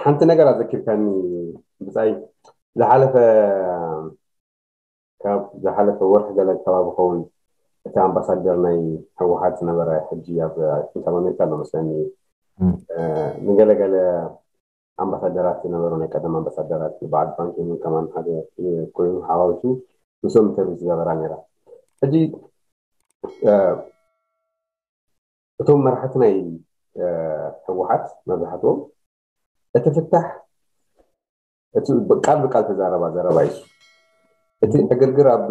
ሓንቲ ነገር ኣዘኪርካኒ ብጻይ። ዝሓለፈ ካብ ዝሓለፈ ወርሒ ገለ ከባቢ ኸውን እቲ ኣምባሳደር ናይ ህወሓት ዝነበረ ሕጂ ኣብ ኣሜሪካ ኣሎ መስለኒ። ንገለገለ ኣምባሳደራት ዝነበሩ ናይ ቀደም ኣምባሳደራት በዓል ባንኪሙን ከማን ሓደ ኮይኑ ሓዋዊሱ ምስኦም ኢንተርቪው ዝገበራ ነይራ። ሕጂ እቶም መራሕቲ ናይ ህወሓት መብዛሕትኦም እቲ ፍታሕ እቲ ቃል ብቃል ተዛረባ ዘረባ እዩ። እቲ ዕግርግር ኣብ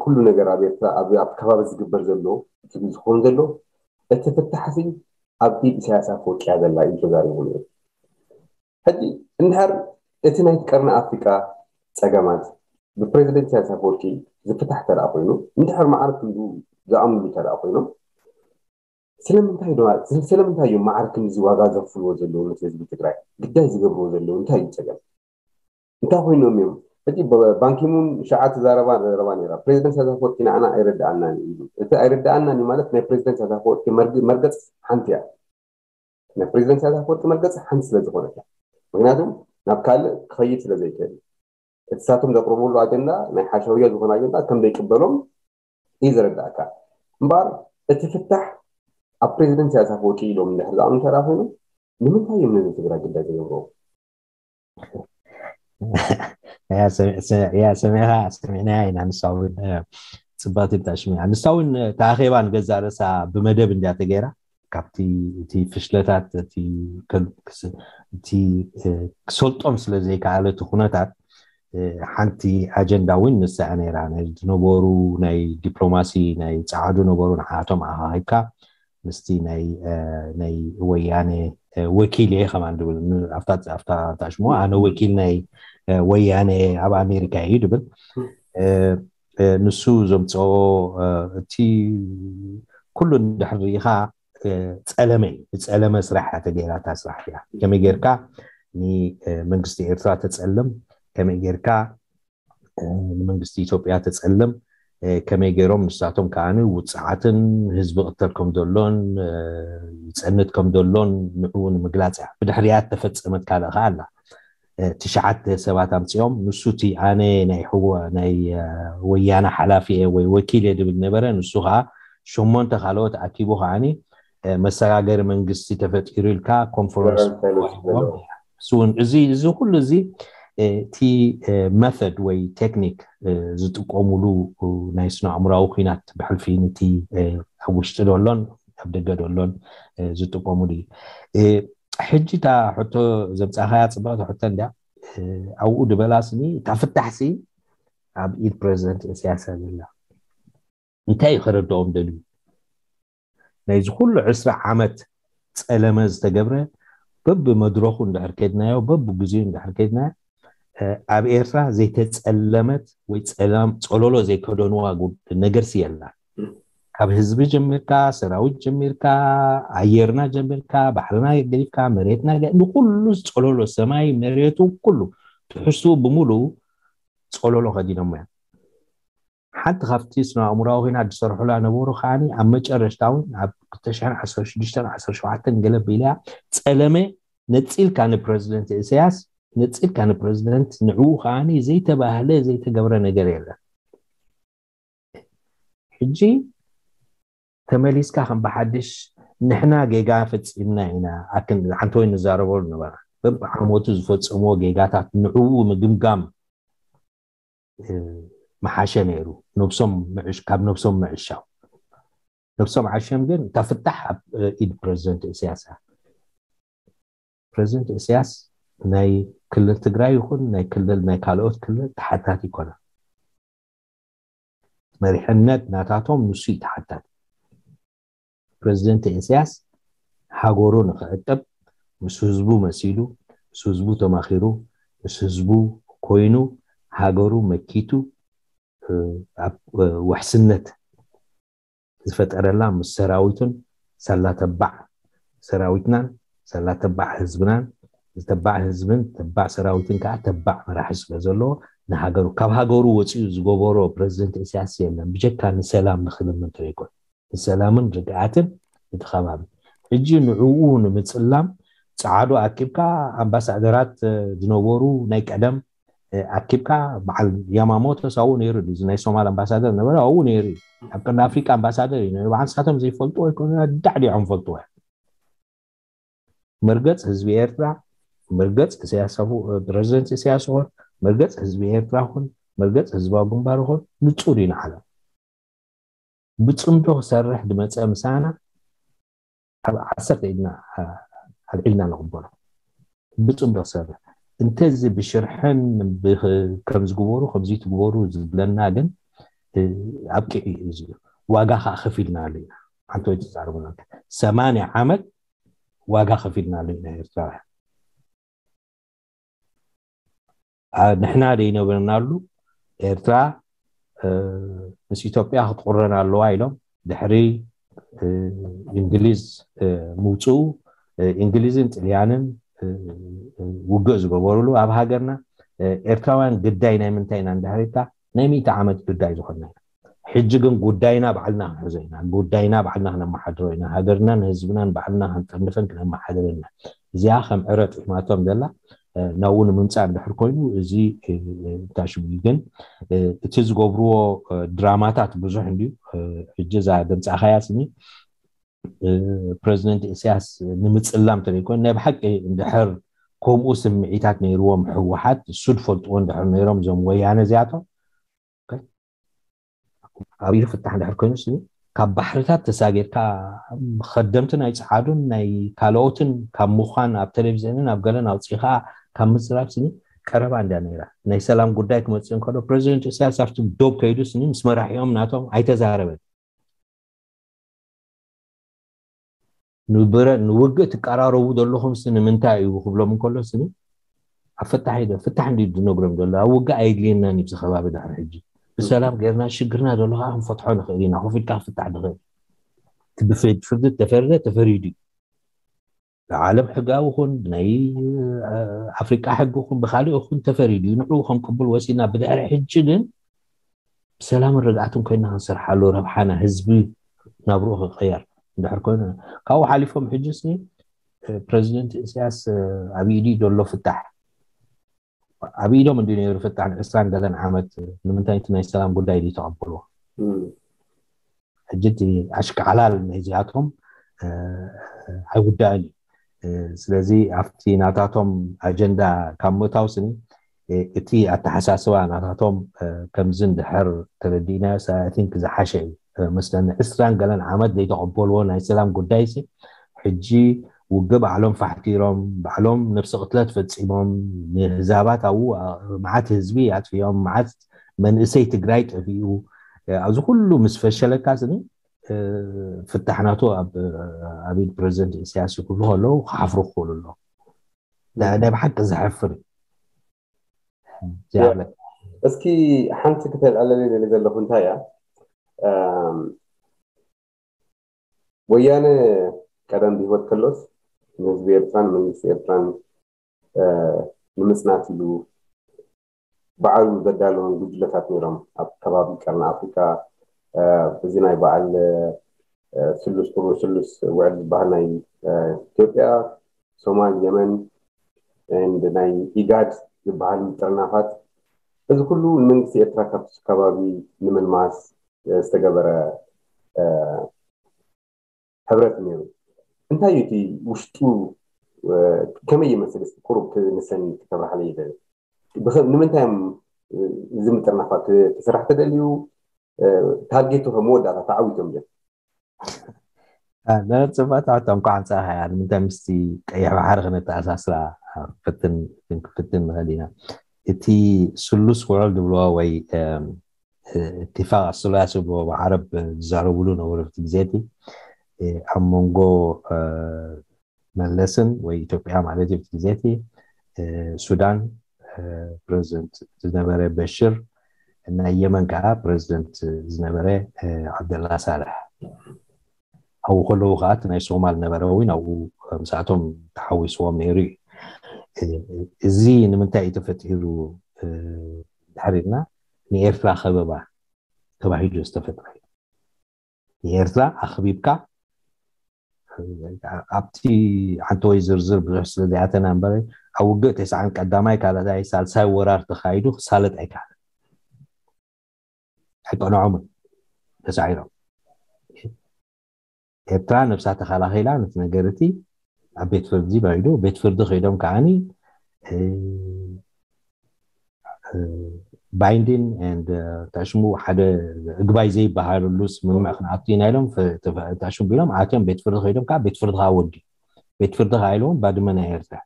ኩሉ ነገር ኣብ ኤርትራ ኣብ ከባቢ ዝግበር ዘሎ እቲ ዝኸውን ዘሎ እቲ ፍታሕ ሲ ኣብ ኢድ ኢሳያስ ኣፈወርቂ እያ ዘላ እዩ ተዛሪቡ ነይሩ። ሕጂ እንድሕር እቲ ናይቲ ቀርኒ ኣፍሪቃ ጸገማት ብፕሬዚደንት ኢሳያስ ኣፈወርቂ ዝፍታሕ ተደኣ ኮይኑ እንድሕር ማዕረ ክንዱ ዝኣምሉ ተደኣ ኮይኖም ስለምንታይ ዶ ስለምንታይ እዮም ማዕረ ክንድዚ ዋጋ ዘኽፍልዎ ዘለዉ ነቲ ህዝቢ ትግራይ ግዳይ ዝገብርዎ ዘለዉ እንታይ እዩ ጸገም እንታይ ኮይኖም እዮም ሕጂ ባንኪሙን ሸዓ ተዛረባ ዘረባ ነራ ፕሬዚደንት ኢሳያስ ኣፈወርቂ ንዓና ኣይረዳኣናን እዩ እቲ ኣይረዳኣናን እዩ ማለት ናይ ፕሬዚደንት ኢሳያስ ኣፈወርቂ መርገጽ ሓንቲ እያ ናይ ፕሬዚደንት ኢሳያስ ኣፈወርቂ መርገጽ ሓንቲ ስለ ዝኾነት እያ ምክንያቱ ናብ ካልእ ክኸይድ ስለ ዘይክእል እቲ ሳቶም ዘቅርብሉ ኣጀንዳ ናይ ሓሸውያ ዝኾነ ኣጀንዳ ከም ዘይቅበሎም እዩ ዝረዳእካ እምበኣር እቲ ፍታሕ ኣብ ፕሬዚደንት ኢሳያስ ኣፈወርቂ ኢሎም እንድሕር ዝኣምኑ ተራ ኮይኑ ንምንታይ እዮም ነዚ ትግራይ ግዳይ ዝገብርዎ ያ ሰሚዕካ ሰሚዕናያ ኢና ንሳ እውን ፅባቲ እንታ ሽሚዓ ንሳ እውን ተኣኼባ ንገዛ ርእሳ ብመደብ እንዲያ ተገይራ ካብቲ እቲ ፍሽለታት እቲ ክሰልጦም ስለ ዘይከኣለ እቲ ኩነታት ሓንቲ ኣጀንዳ እውን ንሳ እያ ነይራ ናይ ዝነበሩ ናይ ዲፕሎማሲ ናይ ፀዓዱ ነበሩ ንዓቶም ኣኻኺብካ ምስቲ ናይ ናይ ወያነ ወኪል እየ ከማን ድብል ኣብታ ሽሞ ኣነ ወኪል ናይ ወያነ ኣብ ኣሜሪካ እዩ ድብል ንሱ ዘምፅኦ እቲ ኩሉ እንድሕር ርኢኻ ፀለመ እዩ ብፀለመ ስራሕ እያ ተገይራ እታ ስራሕ እያ ከመይ ጌርካ ንመንግስቲ ኤርትራ ተፀልም ከመይ ጌርካ ንመንግስቲ ኢትዮጵያ ተፀልም ከመይ ገይሮም ንሳቶም ከዓ ውፅዓትን ህዝቢ ቅተል ከም ዘሎን ይፀንት ከም ዘሎን ንዕኡ ንምግላፅ እያ ብድሕሪያ ተፈፀመት ካልእ ከዓ ኣላ ትሽዓተ ሰባት ኣምፅኦም ንሱ እቲ ኣነ ናይ ሕወ ናይ ወያነ ሓላፊ እየ ወይ ወኪል እየ ድብል ነበረ ንሱ ከዓ ሸሞንተ ካልኦት ኣኪቡ ከዓኒ መሰጋገሪ መንግስቲ ተፈጢሩ ኢልካ ኮንፈረንስ እውን እዚ እዚ ኩሉ እዚ እቲ መተድ ወይ ቴክኒክ ዝጥቀሙሉ ናይ ስነ ኣእምራዊ ኩናት ብሕልፊ ንቲ ኣብ ውሽጢ ደሎን ኣብ ደገ ደሎን ዝጥቀሙሉ እዩ ሕጂ እታ ሕቶ ዘምፃኻያ ፅብቅቲ ሕቶ እንዲያ ኣብኡ ድበላስኒ እታ ፍታሕሲ ኣብ ኢድ ፕሬዚደንት እስያስ ዘላ እንታይ እዩ ከረድኦም ደልዩ ናይዚ ኩሉ ዕስራ ዓመት ፀለመ ዝተገብረ በብመድረኹ እንድሕር ከድናዮ በብግዜኡ እንድሕር ከድናዮ ኣብ ኤርትራ ዘይተፀለመት ወይ ፀላም ፀሎሎ ዘይከደንዋ ነገርሲ የላ ካብ ህዝቢ ጀሚርካ ሰራዊት ጀሚርካ ኣየርና ጀሚርካ ባሕርና ገዲፍካ መሬትና ንኩሉ ፀሎሎ ሰማይ መሬቱ ኩሉ ትሕዝትኡ ብምሉ ፀሎሎ ከዲኖሞ እዮም ሓንቲ ካብቲ ስነ ኣእምራዊ ኮይና ዝሰርሑላ ነበሩ ከዓኒ ኣብ መጨረሽታ እውን ኣብ ክልተ ሽሕን ዓሰርተ ሽዱሽተን ዓሰርተ ሸውዓተን ገለ ቢላ ፀለመ ነፂልካ ንፕረዚደንት ኢሳያስ ነፂልካ ንፕረዚደንት ንዕኡ ከዓኒ ዘይተባህለ ዘይተገብረ ነገር የለን ሕጂ ተመሊስካ ከም ብሓድሽ ንሕና ጌጋ ፈፂምና ኢና ኣክን ሓንቲ ወይ ንዛረበሉ ነበራ በብዓመቱ ዝፈፀምዎ ጌጋታት ንዕኡ ምግምጋም ምሓሸ ነይሩ ነብሶም ካብ ነብሶም ምዕሻው ነብሶም ዓሸም ግን እታ ፍታሕ ኣብ ኢድ ፕረዚደንት እስያስ ፕረዚደንት እስያስ ናይ ክልል ትግራይ ይኹን ናይ ክልል ናይ ካልኦት ክልል ተሓታቲ ይኮነ መሪሕነት ናታቶም ንሱ እዩ ተሓታቲ ፕረዚደንት እስያስ ሃገሩ ንክዕቅብ ምስ ህዝቡ መሲሉ ምስ ህዝቡ ተማኺሩ ምስ ህዝቡ ኮይኑ ሃገሩ መኪቱ ኣብ ውሕስነት ዝፈጠረላ ምስ ሰራዊቱን ሳላ ተባዕ ሰራዊትናን ሳላ ተባዕ ህዝብናን ዝተባዕ ህዝብን ተባዕ ሰራዊትን ከዓ ተባዕ መራሒ ስለ ዘለዎ ንሃገሩ ካብ ሃገሩ ወፂኡ ዝገበሮ ፕረዚደንት እስያስ የለን ብጀካ ንሰላም ንክልምን ተይኮን ንሰላምን ርግኣትን እቲ ከባቢ ሕጂ ንዕኡ ንምፅላም ጸዓዱ ኣኪብካ ኣምባሳደራት ዝነበሩ ናይ ቀደም ኣኪብካ በዓል ያማሞቶ ሳው ነይሩ፣ እዚ ናይ ሶማል ኣምባሳደር ነበረ፣ ኣብኡ ነይሩ። ኣብ ቀንዲ ኣፍሪቃ ኣምባሳደር እዩ ነይሩ። በዓል ንሳቶም ዘይፈልጥዎ ኣይኮኑ፣ ዳዕዲዖም ፈልጥዎ። መርገጽ ህዝቢ ኤርትራ፣ መርገጽ ኢሳያስ ኣፈ-፣ ፕረዚደንት ኢሳያስ ይኹን፣ መርገጽ ህዝቢ ኤርትራ ይኹን፣ መርገጽ ህዝባዊ ግንባር ይኹን ንጹር እዩ ንዓለም። ብጽምዶ ክሰርሕ ዝመጸ ምሳና ኣብ ዓሰርተ ኢድና ኣልዒልና ንቕበሎ። ብጽምዶ ክሰርሕ እንተዚ ብሽርሕን ከም ዝግበሩ ከምዚ ትግበሩ ዝብለና ግን ኣብቂዑ እዩ። እዚ ዋጋ ከዓ ከፊልና ኣለና። ሓንቲ ወይ ትዛረቡና ሰማንያ ዓመት ዋጋ ከፊልና ኣለና ኤርትራውያን። ንሕና ዘይነበርናሉ ኤርትራ ምስ ኢትዮጵያ ክትቁረን ኣለዋ ኢሎም ድሕሪ እንግሊዝ ምውፅኡ፣ እንግሊዝን ጥልያንን ውግእ ዝገበሩሉ ኣብ ሃገርና ኤርትራውያን ግዳይ ናይ ምንታይ ኢና እንድሕሪታ ናይ ሚእቲ ዓመት ግዳይ ዝኾንና ኢና። ሕጂ ግን ጉዳይና ባዕልና ክንሕዞ ኢና። ጉዳይና ባዕልና ክነመሓድሮ ኢና። ሃገርናን ህዝብናን ባዕልና ክንጠንፍን ክነመሓድር ኢና። እዚኣ ከም ዕረ ጥዕማቶም ዘላ ናብኡ ንምምፃእ እንድሕር ኮይኑ እዚ ታሽሙ ግን እቲ ዝገብርዎ ድራማታት ብዙሕ እንድዩ። ሕጂ እዛ ድምፃኻያ ስኒ ፕረዚደንት ኢሳያስ ንምፅላም ተደይኮን ናይ ብሓቂ እንድሕር ከምኡ ስምዒታት ነይርዎም ህወሓት ሱድ ፈልጥዎ እንድሕር ነይሮም እዞም ወያነ እዚኣቶም ኣብ ኢዱ ፍታሕ እንድሕር ኮይኑ ካብ ባሕርታት ተሳጊርካ ከደምቲ ናይ ፀዓዱን ናይ ካልኦትን ካብ ምዃን ኣብ ቴሌቪዝንን ኣብ ገለን ኣውፂኻ ካብ ምዝራብ ስኒ ቀረባ እንድያ ነይራ። ናይ ሰላም ጉዳይ ክመፅእ እንከሎ ፕረዚደንት ኢሳያስ ኣብቲ ዶብ ከይዱ ስኒ ምስ መራሒኦም ናቶም ኣይተዛረበን። ንብረ ንውግእ ትቀራረቡ ዘለኹም ስ ንምንታይ እዩ ክብሎም እንከሎ ስ ኣብ ፍታሕ ኢደ ፍታሕ እንዲ ዝነግሮም ዘሎ ኣብ ውግእ ኣይድልየናን እዩ ከባቢ ድሕሪ ሕጂ ብሰላም ገርና ሽግርና ዘሎ ከዓ ክንፈትሖ ንኽእል ኢና ኮፍ ኢልካ ክፍታሕ ንኽእል ብፍርዲ ተፈርደ ተፈሪዱ እዩ ብዓለም ሕጋዊ ኹን ብናይ ኣፍሪቃ ሕጊ ኹን ብካሊኦ ኹን ተፈሪዱ እዩ ንዕኡ ከም ቅቡል ወሲና ብድሕሪ ሕጂ ግን ብሰላምን ርግኣትን ኮይና ክንሰርሓሉ ረብሓና ህዝቢ ናብርኡ ክቀየር እንድሕር ኮይኑ ካብኡ ሓሊፎም ሕጂ ስ ፕረዚደንት እስያስ ኣብ ኢዱ ዘሎ ፍታሕ ኣብ ኢዶም እንዲ ነይሩ ፍታሕ ንዕስራን ገለን ዓመት ንምንታይ እቲ ናይ ሰላም ጉዳይ ድዩ ተቐበልዎ ሕጂ እቲ ኣሽካዕላል ናይዚኣቶም ኣይውዳእን እዩ ስለዚ ኣብቲ ናታቶም ኣጀንዳ ካብ ምእታው ስኒ እቲ ኣተሓሳስባ ናታቶም ከምዚ እንድሕር ተረዲእናዮ ሳያቲንክ ዝሓሸ እዩ መስለኒ ዕስራን ገለን ዓመት ዘይተቐበልዎ ናይ ሰላም ጉዳይ ሲ ሕጂ ውግእ ባዕሎም ፋሕቲሮም ባዕሎም ነብሲ ቅትለት ፈፂሞም ንህዛባት ኣብኡ መዓት ህዝቢ ኣጥፊኦም መዓት መንእሰይ ትግራይ ጠፊኡ ኣብዚ ኩሉ ምስ ፈሸለካ ስኒ ፍታሕ ናቱ ኣብ ኢድ ፕረዚደንት ኢሳያስ ይክብሉ ከለዉ ክሓፍሩ ክኽእሉ ኣለዉ ናይ ብሓቂ ዘሕፍር እዩ እስኪ ሓንቲ ክተልዓለለይ ደሊ ዘለኹ እንታይ እያ ወያነ ቀደም ብህይወት ከሎስ ንህዝቢ ኤርትራን መንግስቲ ኤርትራን ንምፅናት ኢሉ ባዕሉ ዘዳለዎም ጉጅለታት ነይሮም ኣብ ከባቢ ቀርኒ ኣፍሪካ እዚ ናይ በዓል ስሉስ ክቡር ስሉስ ውዕል ዝበሃል ናይ ኢትዮጵያ ሶማል የመን ናይ ኢጋድ ዝበሃል ጥርናፋት እዚ ኩሉ ንመንግስቲ ኤርትራ ካብቲ ከባቢ ንምልማስ ዝተገበረ ሕብረት ነይሩ እንታይ እዩ እቲ ውሽጡ ከመይ ይመስል ቁሩብ ክንሰኒ ክተብርሓለ ይደል ንምንታይ እዮም እዚ ምጥርናፋት ክስራሕ ተደልዩ ታርጌቱ ከም መወዳእታ ተዓዊቶም ድዮም ጽባታት እንኳዕ ኣምጻእካ እያ ንምንታይ ምስቲ ቀይሕ ባሕሪ ክነተኣሳስራ ክፍትን ክንክፍትን ንኽእል ኢና እቲ ስሉስ ውዕል ዝብልዎ ወይ ኢትፋቅ ኣስሉያስ ዝብልዎ ብዓረብ ዝዛረብሉ ነበሩ እቲ ግዜ እቲ ኣብ መንጎ መለስን ወይ ኢትዮጵያ ማለት እዩ እቲ ግዜ እቲ ሱዳን ፕረዚደንት ዝነበረ በሽር ናይ የመን ከዓ ፕረዚደንት ዝነበረ ዓብደላ ሳልሕ ኣብኡ ከለዉ ከዓ እቲ ናይ ሶማል ነበረ እውን ኣብኡ ምስኣቶም ተሓዊስዎም ነይሩ እዩ እዚ ንምንታይ እዩ ተፈጢሩ ድሕር ኢልና ንኤርትራ ከበባ ተባሂሉ ዝተፈጥረ እዩ ንኤርትራ ኣኽቢብካ ኣብቲ ዓንተወይ ዝርዝር ብዙሕ ስለ ዘይኣተና እምበር ኣብ ውግእ ተስዓን ቀዳማይ ካልኣይ ሳልሳይ ወራር ተኻይዱ ክሳለጥ ኣይከኣለን። ኣይቀንዖምን፣ ተሳዒሮም። ኤርትራ ነብሳ ተኸላኺላ ነቲ ነገር እቲ ኣብ ቤት ፍርዲ በይዱ፣ ቤት ፍርዲ ከይዶም ከዓኒ binding and ተሽሙ ሓደ እግባይ ዘይበሃለሉ ስምምዕ ክንኣቱ ኢና ኢሎም ተሽሙ ቢሎም ኣትዮም ቤት ፍርዲ ከይዶም ከዓ ቤት ፍርዲ ከዓ ወዲ ቤት ፍርዲ ከዓ ኢሎም ባድመ ናይ ኤርትራ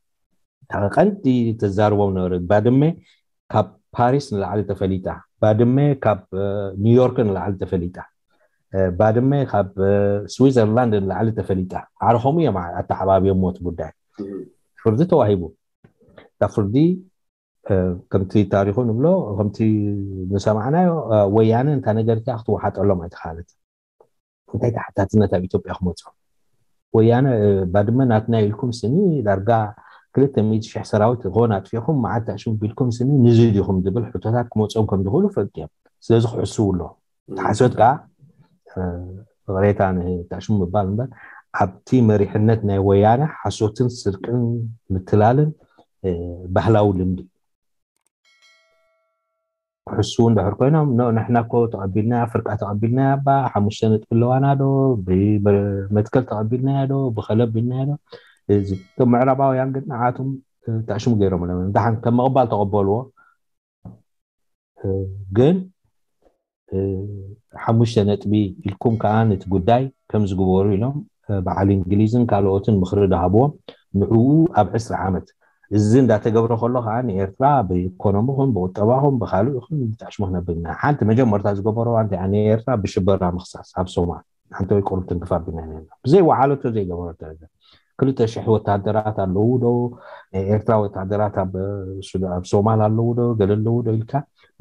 ቀንዲ ተዛርቦም ነበረ። ባድመ ካብ ፓሪስ ንላዕሊ ተፈሊጣ፣ ባድመ ካብ ኒውዮርክ ንላዕሊ ተፈሊጣ፣ ባድመ ካብ ስዊዘርላንድ ንላዕሊ ተፈሊጣ። ዓርኾም እዮም ኣተዓባብዮም ሞት ጉዳይ ፍርዲ ተዋሂቡ። እታ ፍርዲ ከምቲ ታሪኹ ንብሎ ከምቲ ዝሰማዕናዮ ወያነ እንታ ነገር እቲኣ ክትወሓጠሎም ኣይተኻለት። እንታይ ተሓታትነት ኣብ ኢትዮጵያ ክመፅኦም ወያነ ባድመ ናትና ኢልኩም ስኒ ዳርጋ ክልተ ሚእቲ ሽሕ ሰራዊት ዝኾን ኣጥፊኹም መዓት ኣሽሙ ቢልኩም ስኒ ንዚ ዲኹም ዝብል ሕቶታት ክመፅኦም ከም ዝኽእሉ ፈልጥ እዮም። ስለዚ ክሕስቡ ኣለዎም። ሓሶት ከዓ ፍቕሬታ ንታሽሙ ምባል እምበር ኣብቲ መሪሕነት ናይ ወያነ ሓሶትን ስርቅን ምትላልን ባህላዊ ልምዲ ክሕስቡ እንድሕር ኮይኖም ንሕና እኮ ተቐቢልናያ ፍርቃ ተቐቢልናያ ባ ሓሙሽተ ነጥቢ ኣለዋና ዶ ብመትከል ተቐቢልናያ ዶ ብኸለብ ኢልናያ ዶ እቶም ምዕራባውያን ግን ንዓቶም ታሽሙ ገይሮም ኣለዉ ደሓን ከም ምቕባል ተቐበልዎ ግን ሓሙሽተ ነጥቢ ኢልኩም ከዓ ነቲ ጉዳይ ከም ዝግበሩ ኢሎም በዓል እንግሊዝን ካልኦትን ምኽሪ ዝሃብዎም ንዕኡ ኣብ ዕስራ ዓመት እዚ እንዳተገብረ ከሎ ከዓ ንኤርትራ ብኢኮኖሚ ኹን ብቁጠባ ኹን ብካልእ ኹን ብጣዕሽሙ ክነብር ኢና ሓንቲ መጀመርታ ዝገበሮ ኣንቲ ንኤርትራ ብሽበራ ምክሳስ ኣብ ሶማል ሓንቲ ወይ ቁሩብ ትንክፍ ኣቢልና ነርና ብዘይ ወዓለቶ ዘይገበሮ ደረጃ ክልተ ሽሕ ወታደራት ኣለዉ ዶ ናይ ኤርትራ ወታደራት ኣብ ሶማል ኣለዉ ዶ ገለ ኣለዉ ዶ ኢልካ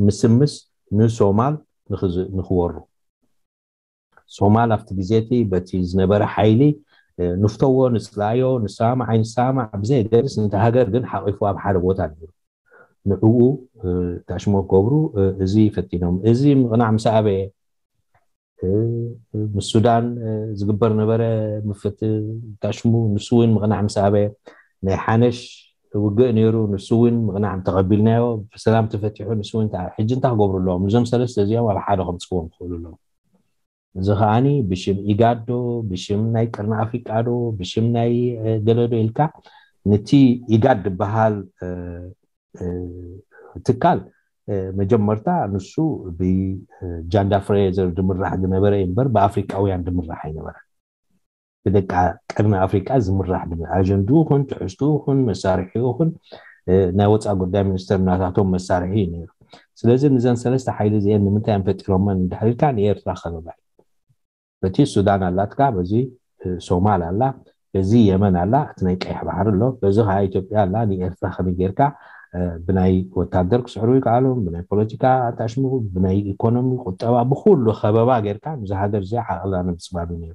ምስምስ ንሶማል ንክወሩ ሶማል ኣብቲ ግዜ እቲ በቲ ዝነበረ ሓይሊ ንፍተዎ ንፅላዮ ንሰማማዕ ኣይንሰማማዕ ብዘየገድስ ነቲ ሃገር ግን ሓቂፉ ኣብ ሓደ ቦታ ነይሩ ንዕኡ ታሽሞ ክገብሩ እዚ ፈቲኖም እዚ ምቕናዕ ምስ ኣበየ ምስ ሱዳን ዝግበር ነበረ ምፍት ታሽሙ ንሱ እውን ምቕናዕ ምስ ኣበየ ናይ ሓነሽ ውግእ ነይሩ ንሱ እውን ምቕናዕ ተቐቢልናዮ ብሰላም ተፈቲሑ ንሱ እውን ሕጂ እንታይ ክገብሩ ኣለዎም እዞም ሰለስተ እዚኦም ኣብ ሓደ ከምፅዎም ክኽእሉ ኣለዎም እዚ ከዓኒ ብሽም ኢጋድ ዶ ብሽም ናይ ቅርኒ ኣፍሪቃ ዶ ብሽም ናይ ገለ ዶ ኢልካ ነቲ ኢጋድ ዝበሃል ትካል መጀመርታ ንሱ ብጃንዳ ፍሬዘር ድምራሕ ዝነበረ እዩ እምበር ብኣፍሪቃውያን ድምራሕ ኣይነበረ ብደቂ ቅርኒ ኣፍሪቃ ዝምራሕ ድምራሕ ኣጀንድኡ ኹን ትሕዝትኡ ኹን መሳርሒኡ ኹን ናይ ወፃኢ ጉዳይ ሚኒስተር ናታቶም መሳርሒ እዩ ነይሩ ስለዚ ንዘን ሰለስተ ሓይሊ እዚአን ንምንታይ እዮም ፈጢሮመን እንድሕር ኢልካ ንኤርትራ ከበባ እዩ በቲ ሱዳን ኣላትካ በዚ ሶማል ኣላ በዚ የመን ኣላ እቲ ናይ ቀይሕ ባሕሪ ኣሎ በዚ ከዓ ኢትዮጵያ ኣላ ንኤርትራ ከመይ ጌርካ ብናይ ወታደር ክስዕሩ ይከኣሉ ብናይ ፖለቲካ ኣታሽሙ ብናይ ኢኮኖሚ ቁጠባ ብኩሉ ከበባ ጌርካ ንዚ ሃገር እዚ ዓቕላ ንምፅባብ እዩ ነይሩ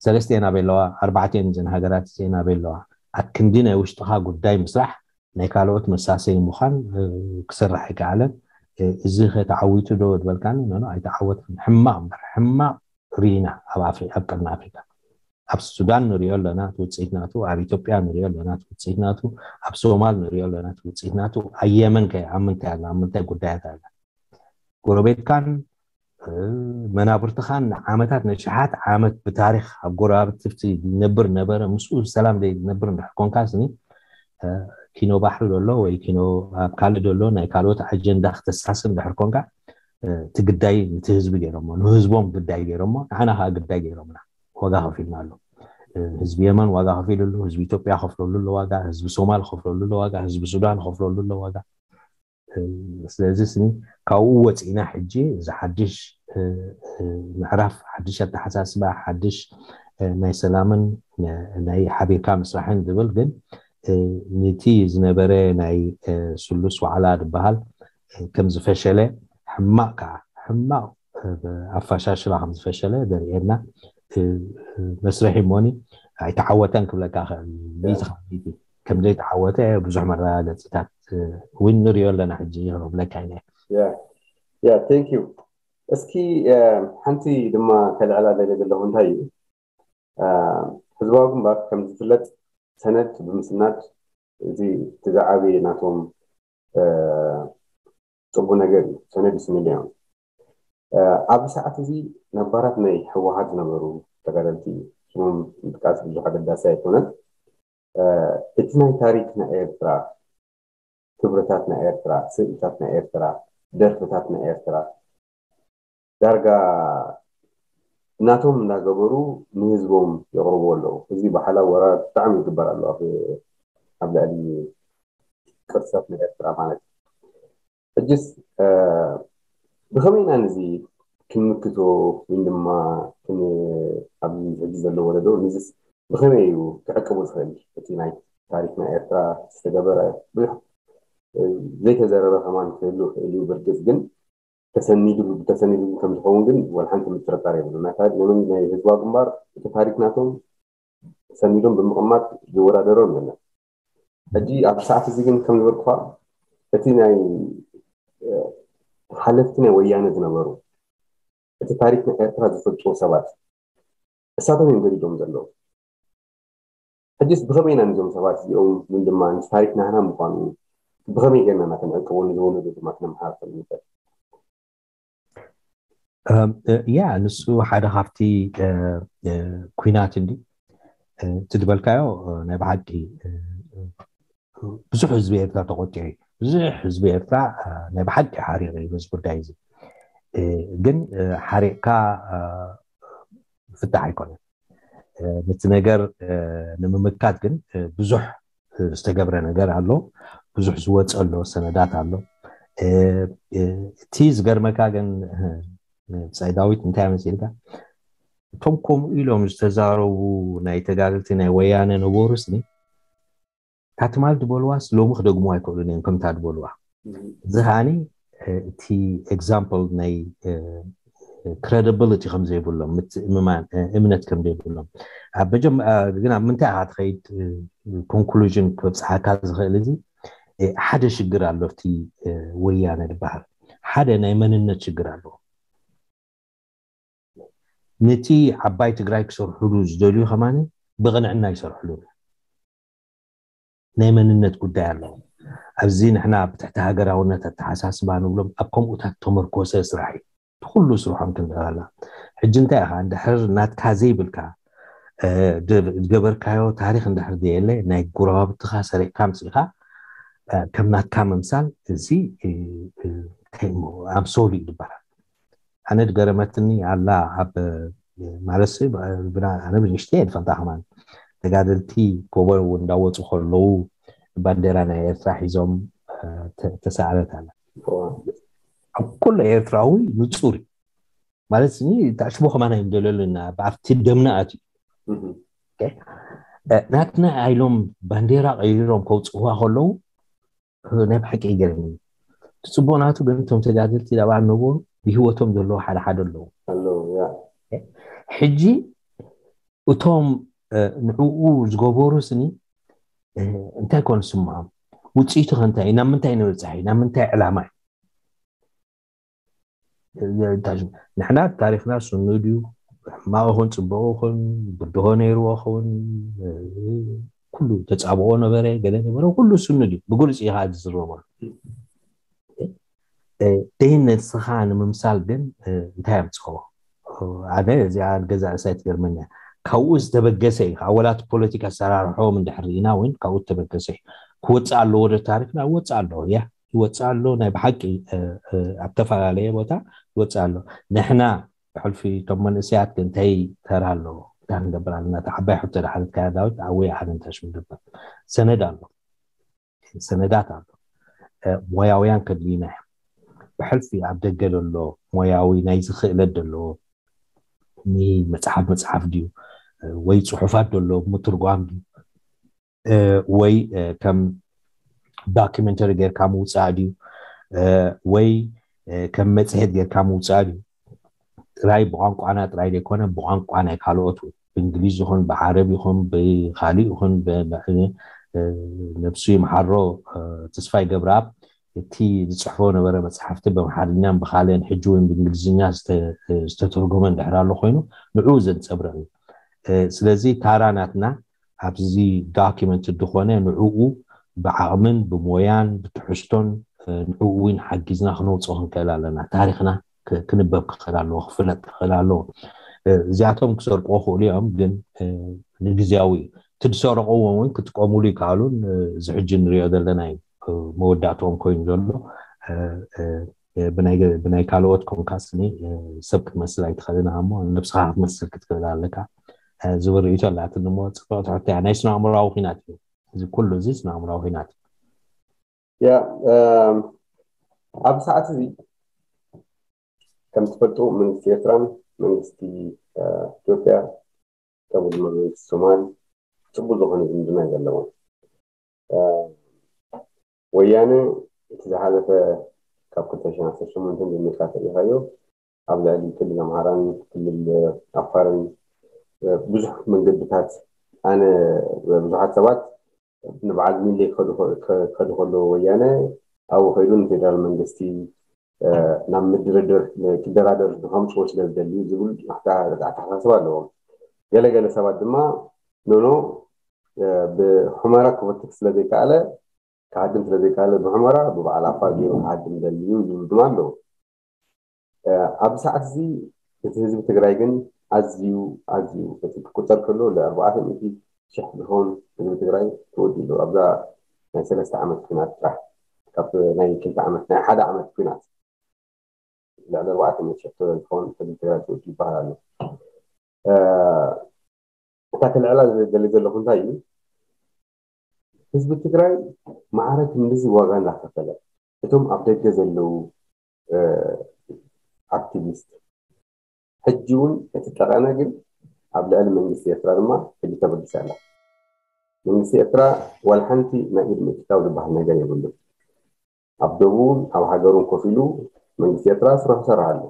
ሰለስተ ናበይ ኣለዋ ኣርባዕተ እዘን ሃገራት እዚአን ኣበይ ኣለዋ ኣክንዲ ናይ ውሽጥኻ ጉዳይ ምስራሕ ናይ ካልኦት መሳሰይ ምዃን ክስራሕ ኣይከኣለን እዚ ከተዓዊቱ ዶ ዝበልካኒ ኖ ኣይተዓወትን ሕማቕ እምበር ሕማቕ ርኢና ኣብ ኣፍሪ ኣብ ቀርኒ ኣፍሪካ ኣብ ሱዳን ንሪኦ ኣለና እቲ ውፅኢት ናቱ ኣብ ኢትዮጵያ ንሪኦ ኣለና እቲ ውፅኢት ናቱ ኣብ ሶማል ንሪኦ ኣለና እቲ ውፅኢት ናቱ ኣብ የመን ከ ኣብ ምንታይ ኣላ ኣብ ምንታይ ጉዳያት ኣላ ጎረቤትካን መናብርትኻን ንዓመታት ንሽሓት ዓመት ብታሪክ ኣብ ጎረባብቲ ዝነብር ነበረ ምስኡ ሰላም ዘይነብር እንድሕር ኮንካ ስኒ ኪኖ ባሕሪ ዘሎ ወይ ኪኖ ኣብ ካልእ ዘሎ ናይ ካልኦት ኣጀንዳ ክተሳስር እንድሕር ኮንካ እቲ ግዳይ ነቲ ህዝቢ ገይሮሞ ንህዝቦም ግዳይ ገይሮሞ ንዓና ከዓ ግዳይ ገይሮምና ዋጋ ከፊልና ኣሎ ህዝቢ የመን ዋጋ ከፊሉ ኣሎ ህዝቢ ኢትዮጵያ ከፍለሉ ኣሎ ዋጋ ህዝቢ ሶማል ከፍለሉ ኣሎ ዋጋ ህዝቢ ሱዳን ከፍለሉ ኣሎ ዋጋ ስለዚ ስኒ ካብኡ ወፂእና ሕጂ እዚ ሓድሽ ምዕራፍ ሓድሽ ኣተሓሳስባ ሓድሽ ናይ ሰላምን ናይ ሓቢርካ ምስራሕን ዝብል ግን ነቲ ዝነበረ ናይ ስሉስ ዋዕላ ዝበሃል ከም ዝፈሸለ ሕማቕ ከዓ ሕማቕ ኣፈሻሽላ ከም ዝፈሸለ ዘርእየና መስርሒ እሞኒ ኣይተዓወተን ክብለካ ክእል ሚእቲ ካብ ሚእቲ ከም ዘይተዓወተ ብዙሕ መረጋገፅታት እውን ንሪኦ ኣለና ሕጂ ክብለካ ኢለ ያ ቴንክ ዩ እስኪ ሓንቲ ድማ ከልዕላ ደለ ዘለኹ እንታይ እዩ ህዝባዊ ግንባር ከም ዝፍለጥ ሰነድ ብምስናድ እዚ እቲ ዝዓበየ ናቶም ፅቡቅ ነገር እዩ። ሰነድ ይስንድ እዮም። ኣብዚ ሰዓት እዚ ነባራት ናይ ህወሓት ዝነበሩ ተጋደልቲ ስሞም ምጥቃስ ብዙሕ ኣገዳሲ ኣይኮነን። እቲ ናይ ታሪክ ናይ ኤርትራ፣ ክብርታት ናይ ኤርትራ፣ ስእልታት ናይ ኤርትራ፣ ደርፍታት ናይ ኤርትራ ዳርጋ እናቶም እናገበሩ ንህዝቦም የቕርቡ ኣለዉ። እዚ ብሓላው ወራር ብጣዕሚ ይግበር ኣሎ ኣብ ልዕሊ ቅርሰት ናይ ኤርትራ ማለት እዩ። ሕጅስ ብኸመይ ኢና ነዚ ክንምክቶ ወይ ድማ ኣብዚ ሕጂ ዘሎ ወለዶ ንዝስ ብኸመይ እዩ ክዕቅቡ ዝኽእል? እቲ ናይ ታሪክ ናይ ኤርትራ ዝተገበረ ብዙሕ ዘይተዘረበ ከማን ክህሉ ይኽእል እዩ። ብርግፅ ግን ተሰኒዱ ተሰኒዱ ከም ዝኸውን ግን ወላ ሓንቲ ምጥርጣር የብሉ። ናይ ህዝባዊ ግንባር እቲ ታሪክ ናቶም ሰኒዶም ብምቕማጥ ዝወዳደሮም የለን። ሕጂ ኣብ ሰዓት እዚ ግን ከም ዝበልኩኻ እቲ ናይ ሓለፍቲ ናይ ወያነ ዝነበሩ እቲ ታሪክ ናይ ኤርትራ ዝፈልጥዎ ሰባት እሳቶም እዮም ገዲዶም ዘለዉ። ሕጅስ ብኸመይ ኢና ንዞም ሰባት እዚኦም ምን ድማ ምስ ታሪክ ናህና ምዃኑ ብኸመይ ጌርና እናተንዕቅቦ ንዝወለዱ ድማ ክነመሓላልፈሉ ንኽእል? ያ ንሱ ሓደ ካብቲ ኩናት እንዲ እቲ ዝበልካዮ ናይ ብሓቂ ብዙሕ ህዝቢ ኤርትራ ተቆጢዑ እዩ። ብዙሕ ህዝቢ ኤርትራ ናይ ብሓቂ ሓሪቕ እዩ በዚ ጉዳይ እዚ። ግን ሓሪቕካ ፍታሕ ኣይኮነን። ነቲ ነገር ንምምካት ግን ብዙሕ ዝተገብረ ነገር ኣሎ፣ ብዙሕ ዝወፀ ኣሎ፣ ሰነዳት ኣሎ። እቲ ዝገርመካ ግን ብጻይ ዳዊት እንታይ መሲልካ እቶም ከምኡ ኢሎም ዝተዛረቡ ናይ ተጋደልቲ ናይ ወያነ ነበሩ ስኒ እታ ትማል ዝበልዋስ ሎሚ ክደግሙ ኣይክእሉን እዮም ከምታ ዝበልዋ። እዚ ከዓኒ እቲ example ናይ credibility ከም ዘይብሎም ምትእምማን እምነት ከም ዘይብሎም ኣብ መጀመ ግን ኣብ ምንታይ ኢኻ ትኸይድ conclusion ክበብፅሓካ ዝኽእል እዚ ሓደ ሽግር ኣሎ ኣብቲ ወያነ ዝበሃል ሓደ ናይ መንነት ሽግር ኣለዎ። ነቲ ዓባይ ትግራይ ክሰርሕሉ ዝደልዩ ከማን ብቕንዕና ይሰርሕሉ። ናይ መንነት ጉዳይ ኣለዎ። ኣብዚ ንሕና ብትሕቲ ሃገራውነት ኣተሓሳስባ ንብሎም ኣብ ከምኡታት ተመርኮሰ ስራሕ እዩ። ብኩሉ ስርሖም ክንርኢ ከለና ሕጂ እንታይ ኢኻ እንድሕር ናትካ ዘይብልካ ዝገበርካዮ ታሪክ እንድሕር ዘየለ ናይ ጉረባብትኻ ሰሪቕካ ኣምፂእኻ ከም ናትካ ምምሳል እዚ ኣምሶሉ እዩ ዝበሃል። ኣነ ዝገረመትኒ ኣላ ኣብ ማለት ኣነ ብንሽተይ እየ ዝፈልጣ ከማን ተጋደልቲ ጎቦ እውን እንዳወፁ ከለዉ ባንዴራ ናይ ኤርትራ ሒዞም ተሳእለት ኣላ ኣብ ኩሉ ኤርትራዊ ንፁር እዩ ማለት ኒ ታሽቦ ከማና እዮም ደለሉና ኣብቲ ደምና ኣትዩ ናትና ኢሎም ባንዴራ ቀይሮም ከውፅዋ ከለዉ ናይ ብሓቂ ይገርም እዩ ትፅቡቅ ናቱ ግን እቶም ተጋደልቲ ዳብኣ ነበሩ ብሂወቶም ዘለዉ ሓደ ሓደ ኣለዉ ሕጂ እቶም ንዕኡ ዝገበሩ ስኒ እንታይ ኮን ስምዖም ውፅኢቱ ከንታይ ናብ ምንታይ ንበፅሕ ናብ ምንታይ ዕላማ እዩ ንሕና ታሪክና ስኑ ድዩ ሕማቕ ይኹን ፅቡቅ ይኹን ብድሆ ነይርዎ ይኸውን ኩሉ ተፃብኦ ነበረ ገለ ነበረ ኩሉ ስኑ ድዩ ብግልፂ ኢኻ ዝዝረቦ ደይን ንስኻ ንምምሳል ግን እንታይ ኣምፅኦ ኣነ እዚኣ ገዛ ርእሳይ ትገርመኛ ካብኡ ዝተበገሰ እዩ ኣወላት ፖለቲካ ኣሰራርሖም እንድሕር ርኢና እውን ካብኡ ዝተበገሰ እዩ ክወፅእ ኣለዎ ዶ ታሪክና ይወፅእ ኣለዎ ያ ይወፅእ ኣሎ ናይ ብሓቂ ኣብ ተፈላለየ ቦታ ይወፅእ ኣሎ ንሕና ብሕልፊ እቶም መንእሰያት ግን እንታይ ተራ ኣለዎ እንታይ ክንገብር ኣለና እታ ዓባይ ሕቶ ዳሓለትካያ ዳዊት ኣወይ ኣነ እንታይ ሽም ገበር ሰነድ ኣሎ ሰነዳት ኣሎ ሞያውያን ከድልዩና እዮም ብሕልፊ ኣብ ደገ ዘሎ ሞያዊ ናይ ዝኽእለት ዘለዎ ንመፅሓፍ መፅሓፍ ድዩ ወይ ፅሑፋት ዘሎ ምትርጓም ድዩ ወይ ከም ዶኪመንተሪ ጌርካ ምውፃእ ድዩ ወይ ከም መፅሄት ጌርካ ምውፃእ ድዩ ጥራይ ብቋንቋና ጥራይ ዘይኮነ ብቋንቋ ናይ ካልኦት ብእንግሊዝ ይኹን ብዓረብ ይኹን ብካሊእ ይኹን ነብሱ ይምሓሮ ተስፋይ ገብረኣብ እቲ ዝፅሕፎ ነበረ መፅሓፍቲ ብኣምሓርኛን ብካልእን ሕጂ እውን ብእንግሊዝኛ ዝተተርጎመ እንድሕር ኣሎ ኮይኑ ንዕኡ ዘንፀብረቕ እዩ ስለዚ ታራ ናትና ኣብዚ ዶኪመንት ዝኾነ ንዕኡ ብዓቕምን ብሞያን ብትሕዝቶን ንዕኡ እውን ሓጊዝና ክነውፅኦ ክንክእል ኣለና። ታሪክና ክንበብ ክኽእል ኣለዎ፣ ክፍለጥ ክኽእል ኣለዎ። እዚኣቶም ክሰርቁ ክኽእሉ እዮም፣ ግን ንግዜያዊ እዩ። እቲ ዝሰረቕዎ እውን ክጥቀሙሉ ይከኣሉን እዚ ሕጂ ንሪኦ ዘለና እዩ መወዳእትኦም ኮይኑ ዘሎ። ብናይ ካልኦት ኮንካ ስኒ ሰብ ክትመስል ኣይትኽእልን እሞ ነብስኻ ክትመስል ክትክእል ኣለካ። ዝብል ርእይቶ ኣላትኒ እሞ ፅብቕቲ ሕቶ እያ። ናይ ስነ ኣእምሮኣዊ ኲናት እዩ እዚ ኩሉ፣ እዚ ስነ ኣእምሮኣዊ ኲናት እዩ። ያ ኣብ ሰዓት እዚ ከም ትፈልጡ መንግስቲ ኤርትራን መንግስቲ ኢትዮጵያ ከምኡ ድማ መንግስቲ ሶማል ፅቡቅ ዝኾነ ዝምድና እዩ ዘለዎም። ወያነ እቲ ዝሓለፈ ካብ ክልተ ሽሕን ዓሰርተ ሸሞንተን ጀሚርካ ተሪኢኻዮ ኣብ ልዕሊ ክልል ኣምሓራን ክልል ኣፋርን ብዙሕ መንገድታት ኣነ ብዙሓት ሰባት ንበዓል ሚሌ ክኸዱ ከለዉ ወያነ ኣብኡ ከይዱ ንፌደራል መንግስቲ ናብ ምድርድር ክደራደር ንከምፅዎ ስለ ዝደልዩ ዝብል ኣተሓሳስባ ኣለዎም። ገለገለ ሰባት ድማ ኖኖ ብሑመራ ክፈትክ ስለ ዘይከኣለ ክሃድም ስለ ዘይከኣለ ብሑመራ ብበዓል ኣፋር ገይሩ ክሃድም ደልዩ ዝብሉ ድማ ኣለዉ። ኣብዚ ሰዓት እዚ እቲ ህዝቢ ትግራይ ግን ኣዝዩ ኣዝዩ እቲ ክቁፀር ከሎ ለ ኣርባዕተ ሚእቲ ሽሕ ዝኸውን ህዝቢ ትግራይ ተወዲሉ ኣብዛ ናይ ሰለስተ ዓመት ኩናት ጥራሕ ካብ ናይ ክልተ ዓመት ናይ ሓደ ዓመት ኩናት ልዕሊ ኣርባዕተ ሚእቲ ሽሕ ዝኸውን ህዝቢ ትግራይ ተወዲሉ ይበሃል ኣሎ። እታ ክልዕላ ዝደሊ ዘለኹ እንታይ እዩ? ህዝቢ ትግራይ ማዕረ ክንድዚ ዋጋ እንዳኸፈለ እቶም ኣብ ደገ ዘለዉ ኣክቲቪስት ሕጂ እውን እቲ ጠቐነ ግን ኣብ ልዕሊ መንግስቲ ኤርትራ ድማ ሕጂ ተበጊሳ ኣላ። መንግስቲ ኤርትራ ዋላ ሓንቲ ናይ ኢድ ምእትታው ዝበሃል ነገር የብሉን። ኣብ ደቡብን ኣብ ሃገሩን ኮፍ ኢሉ መንግስቲ ኤርትራ ስራሑ ይሰርሕ ኣሎ።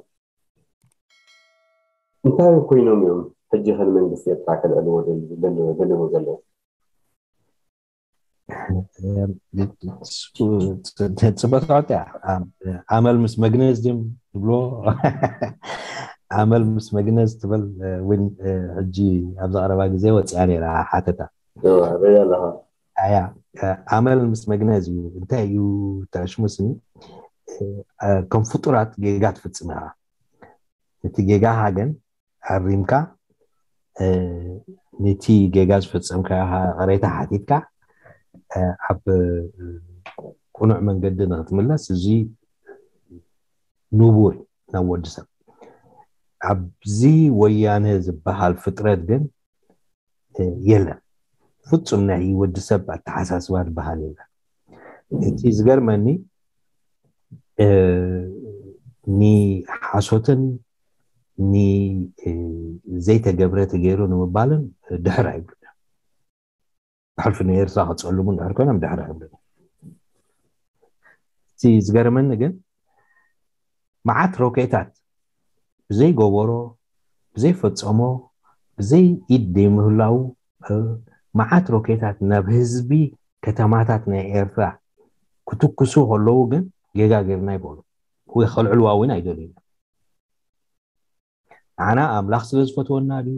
እንታይ ኮይኖም እዮም ሕጂ ከን መንግስቲ ኤርትራ ከልዕልዎ ደልዎ ዘለዉ? ፅበታወት ኣመል ምስ መግነዝ ድም ትብሎ ኣመል ምስ መግነዝ ትበል እውን ሕጂ ኣብዚ ቀረባ ግዜ ወፅያ ነይራ ሓተታ ኣለኻ ኣያ ኣመል ምስ መግነዝ እዩ። እንታይ እዩ ተሽሙስኒ ከም ፍጡራት ጌጋ ትፍፅም ኢኻ። እቲ ጌጋኻ ግን ኣሪምካ ነቲ ጌጋ ዝፈፀምካ ቅሬታ ሓቲትካ ኣብ ቁኑዕ መንገዲ ንክትምለስ እዚ ንቡር ናብ ወዲ ሰብ ኣብዚ ወያነ ዝበሃል ፍጥረት ግን የለን። ፍፁም ናይ ወዲ ሰብ ኣተሓሳስባ ዝበሃል የለን። እቲ ዝገርመኒ ንሓሶትን ንዘይተገብረ ተገይሩ ንምባልን ድሕር ኣይብሉ። ብሕልፊ ንኤርትራ ክፀልሙ ድሕር ኮይኖም ድሕር ኣይብሉ። እቲ ዝገርመኒ ግን መዓት ሮኬታት ብዘይገበሮ ብዘይፈፀሞ ብዘይ ኢድ ዘይምህላው መዓት ሮኬታት ናብ ህዝቢ ከተማታት ናይ ኤርትራ ክትኩሱ ከለዉ ግን ጌጋ ጌርና ይበሉ ወይ ከልዕልዋ እውን ኣይደልዩ። ንዓና ኣምላኽ ስለ ዝፈትወና ድዩ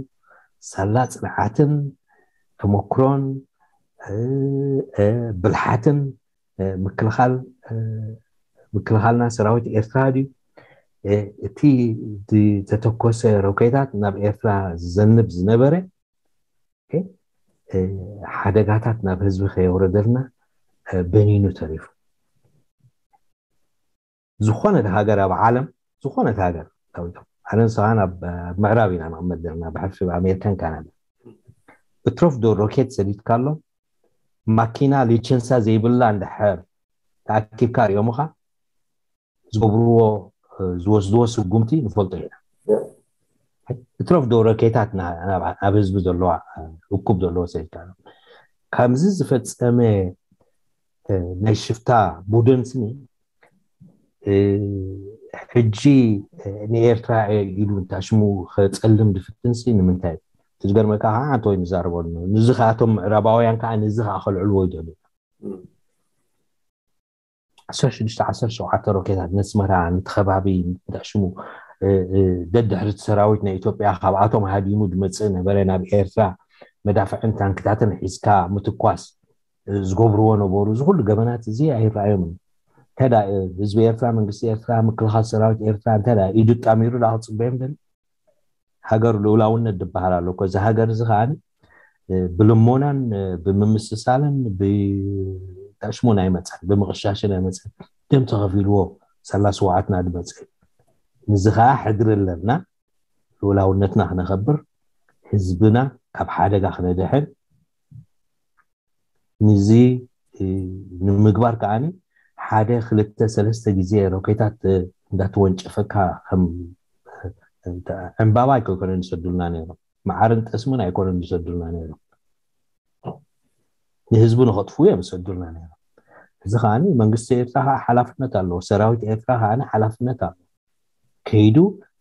ሳላ ፅንዓትን ተመክሮን ብልሓትን ምክልኻል ምክልኻልና ሰራዊት ኤርትራ ድዩ እቲ ዝተተኮሰ ሮኬታት ናብ ኤርትራ ዝዘንብ ዝነበረ ሓደጋታት ናብ ህዝቢ ከየውረደልና በኒኑ ተሪፉ። ዝኾነት ሃገር ኣብ ዓለም ዝኾነት ሃገር ታዊቶም ኣነ ንስኻን ኣብ ምዕራብ ኢና ንቕመጥ ዘለና ብሕልፊ ኣሜሪካን ካናዳ እትረፍዶ ሮኬት ሰዲድካሎም ማኪና ሊቸንሳ ዘይብላ እንድሕር ተኣኪብካ ሪኦምኻ ዝገብርዎ ዝወስድዎ ስጉምቲ ንፈልጦ ኢና። እትረፍዶ ሮኬታት ኣብ ህዝቢ ዘለዋ እኩብ ዘለዎ ሰዲድካ ከምዚ ዝፈፀመ ናይ ሽፍታ ቡድን ስኒ ሕጂ ንኤርትራ ኢሉ እንታ ሽሙ ከፀልም ዝፍትንሲ ንምንታይ እዩ? ዝገርመካ ከዓ ኣንተ ወይ ንዛረበሉ ንዚ ከዓ እቶም ምዕራባውያን ከዓ ንዚ ከዓ ከልዕልዎ ይደልዩ ዓሰርተ ሽዱሽተ ዓሰርተ ሸውዓተ ሮኬታት ነስመራ ንተኸባቢ ሽሙ ደድሕርቲ ሰራዊት ናይ ኢትዮጵያ ካብኣቶም ሃዲሙ ዝመፅእ ነበረ። ናብ ኤርትራ መዳፍዕን ታንክታትን ሒዝካ ምትኳስ ዝገብርዎ ነበሩ። እዚ ኩሉ ገበናት እዚ ኣይረኣዮምን። እንተ ህዝቢ ኤርትራ፣ መንግስቲ ኤርትራ፣ ምክልኻል ሰራዊት ኤርትራ እንተ ኢዱ ጣሚሩ ዳ ክፅበዮም ደል ሃገር ልኡላውነት ዝበሃል ኣሎ እኮ። እዚ ሃገር እዚ ከዓኒ ብልሞናን ብምምስሳልን ብጠሽሙን ኣይመፀን፣ ብምቕሻሽን ኣይመፀን። ደም ተኸፊልዎ ሰላስዋዓትና ዝመፀ። ንዚ ከዓ ሕድሪ ኣለና፣ ልኡላውነትና ክነኸብር፣ ህዝብና ካብ ሓደጋ ክነድሕን። ንዚ ንምግባር ከዓኒ ሓደ ክልተ ሰለስተ ግዜ ሮኬታት እንዳተወንጨፈካ ከም ዕምባባ ኣይኮነን ዝሰዱልና ነይሮም። መዓርን ጠስምን ኣይኮነን ዝሰዱልና ነይሮም። ንህዝቡ ንኸጥፉ እዮም ዝሰዱልና ነይሮም። እዚ ከዓኒ መንግስቲ ኤርትራ ከዓ ሓላፍነት ኣለዎ። ሰራዊት ኤርትራ ከዓኒ ሓላፍነት ኣለዎ። ከይዱ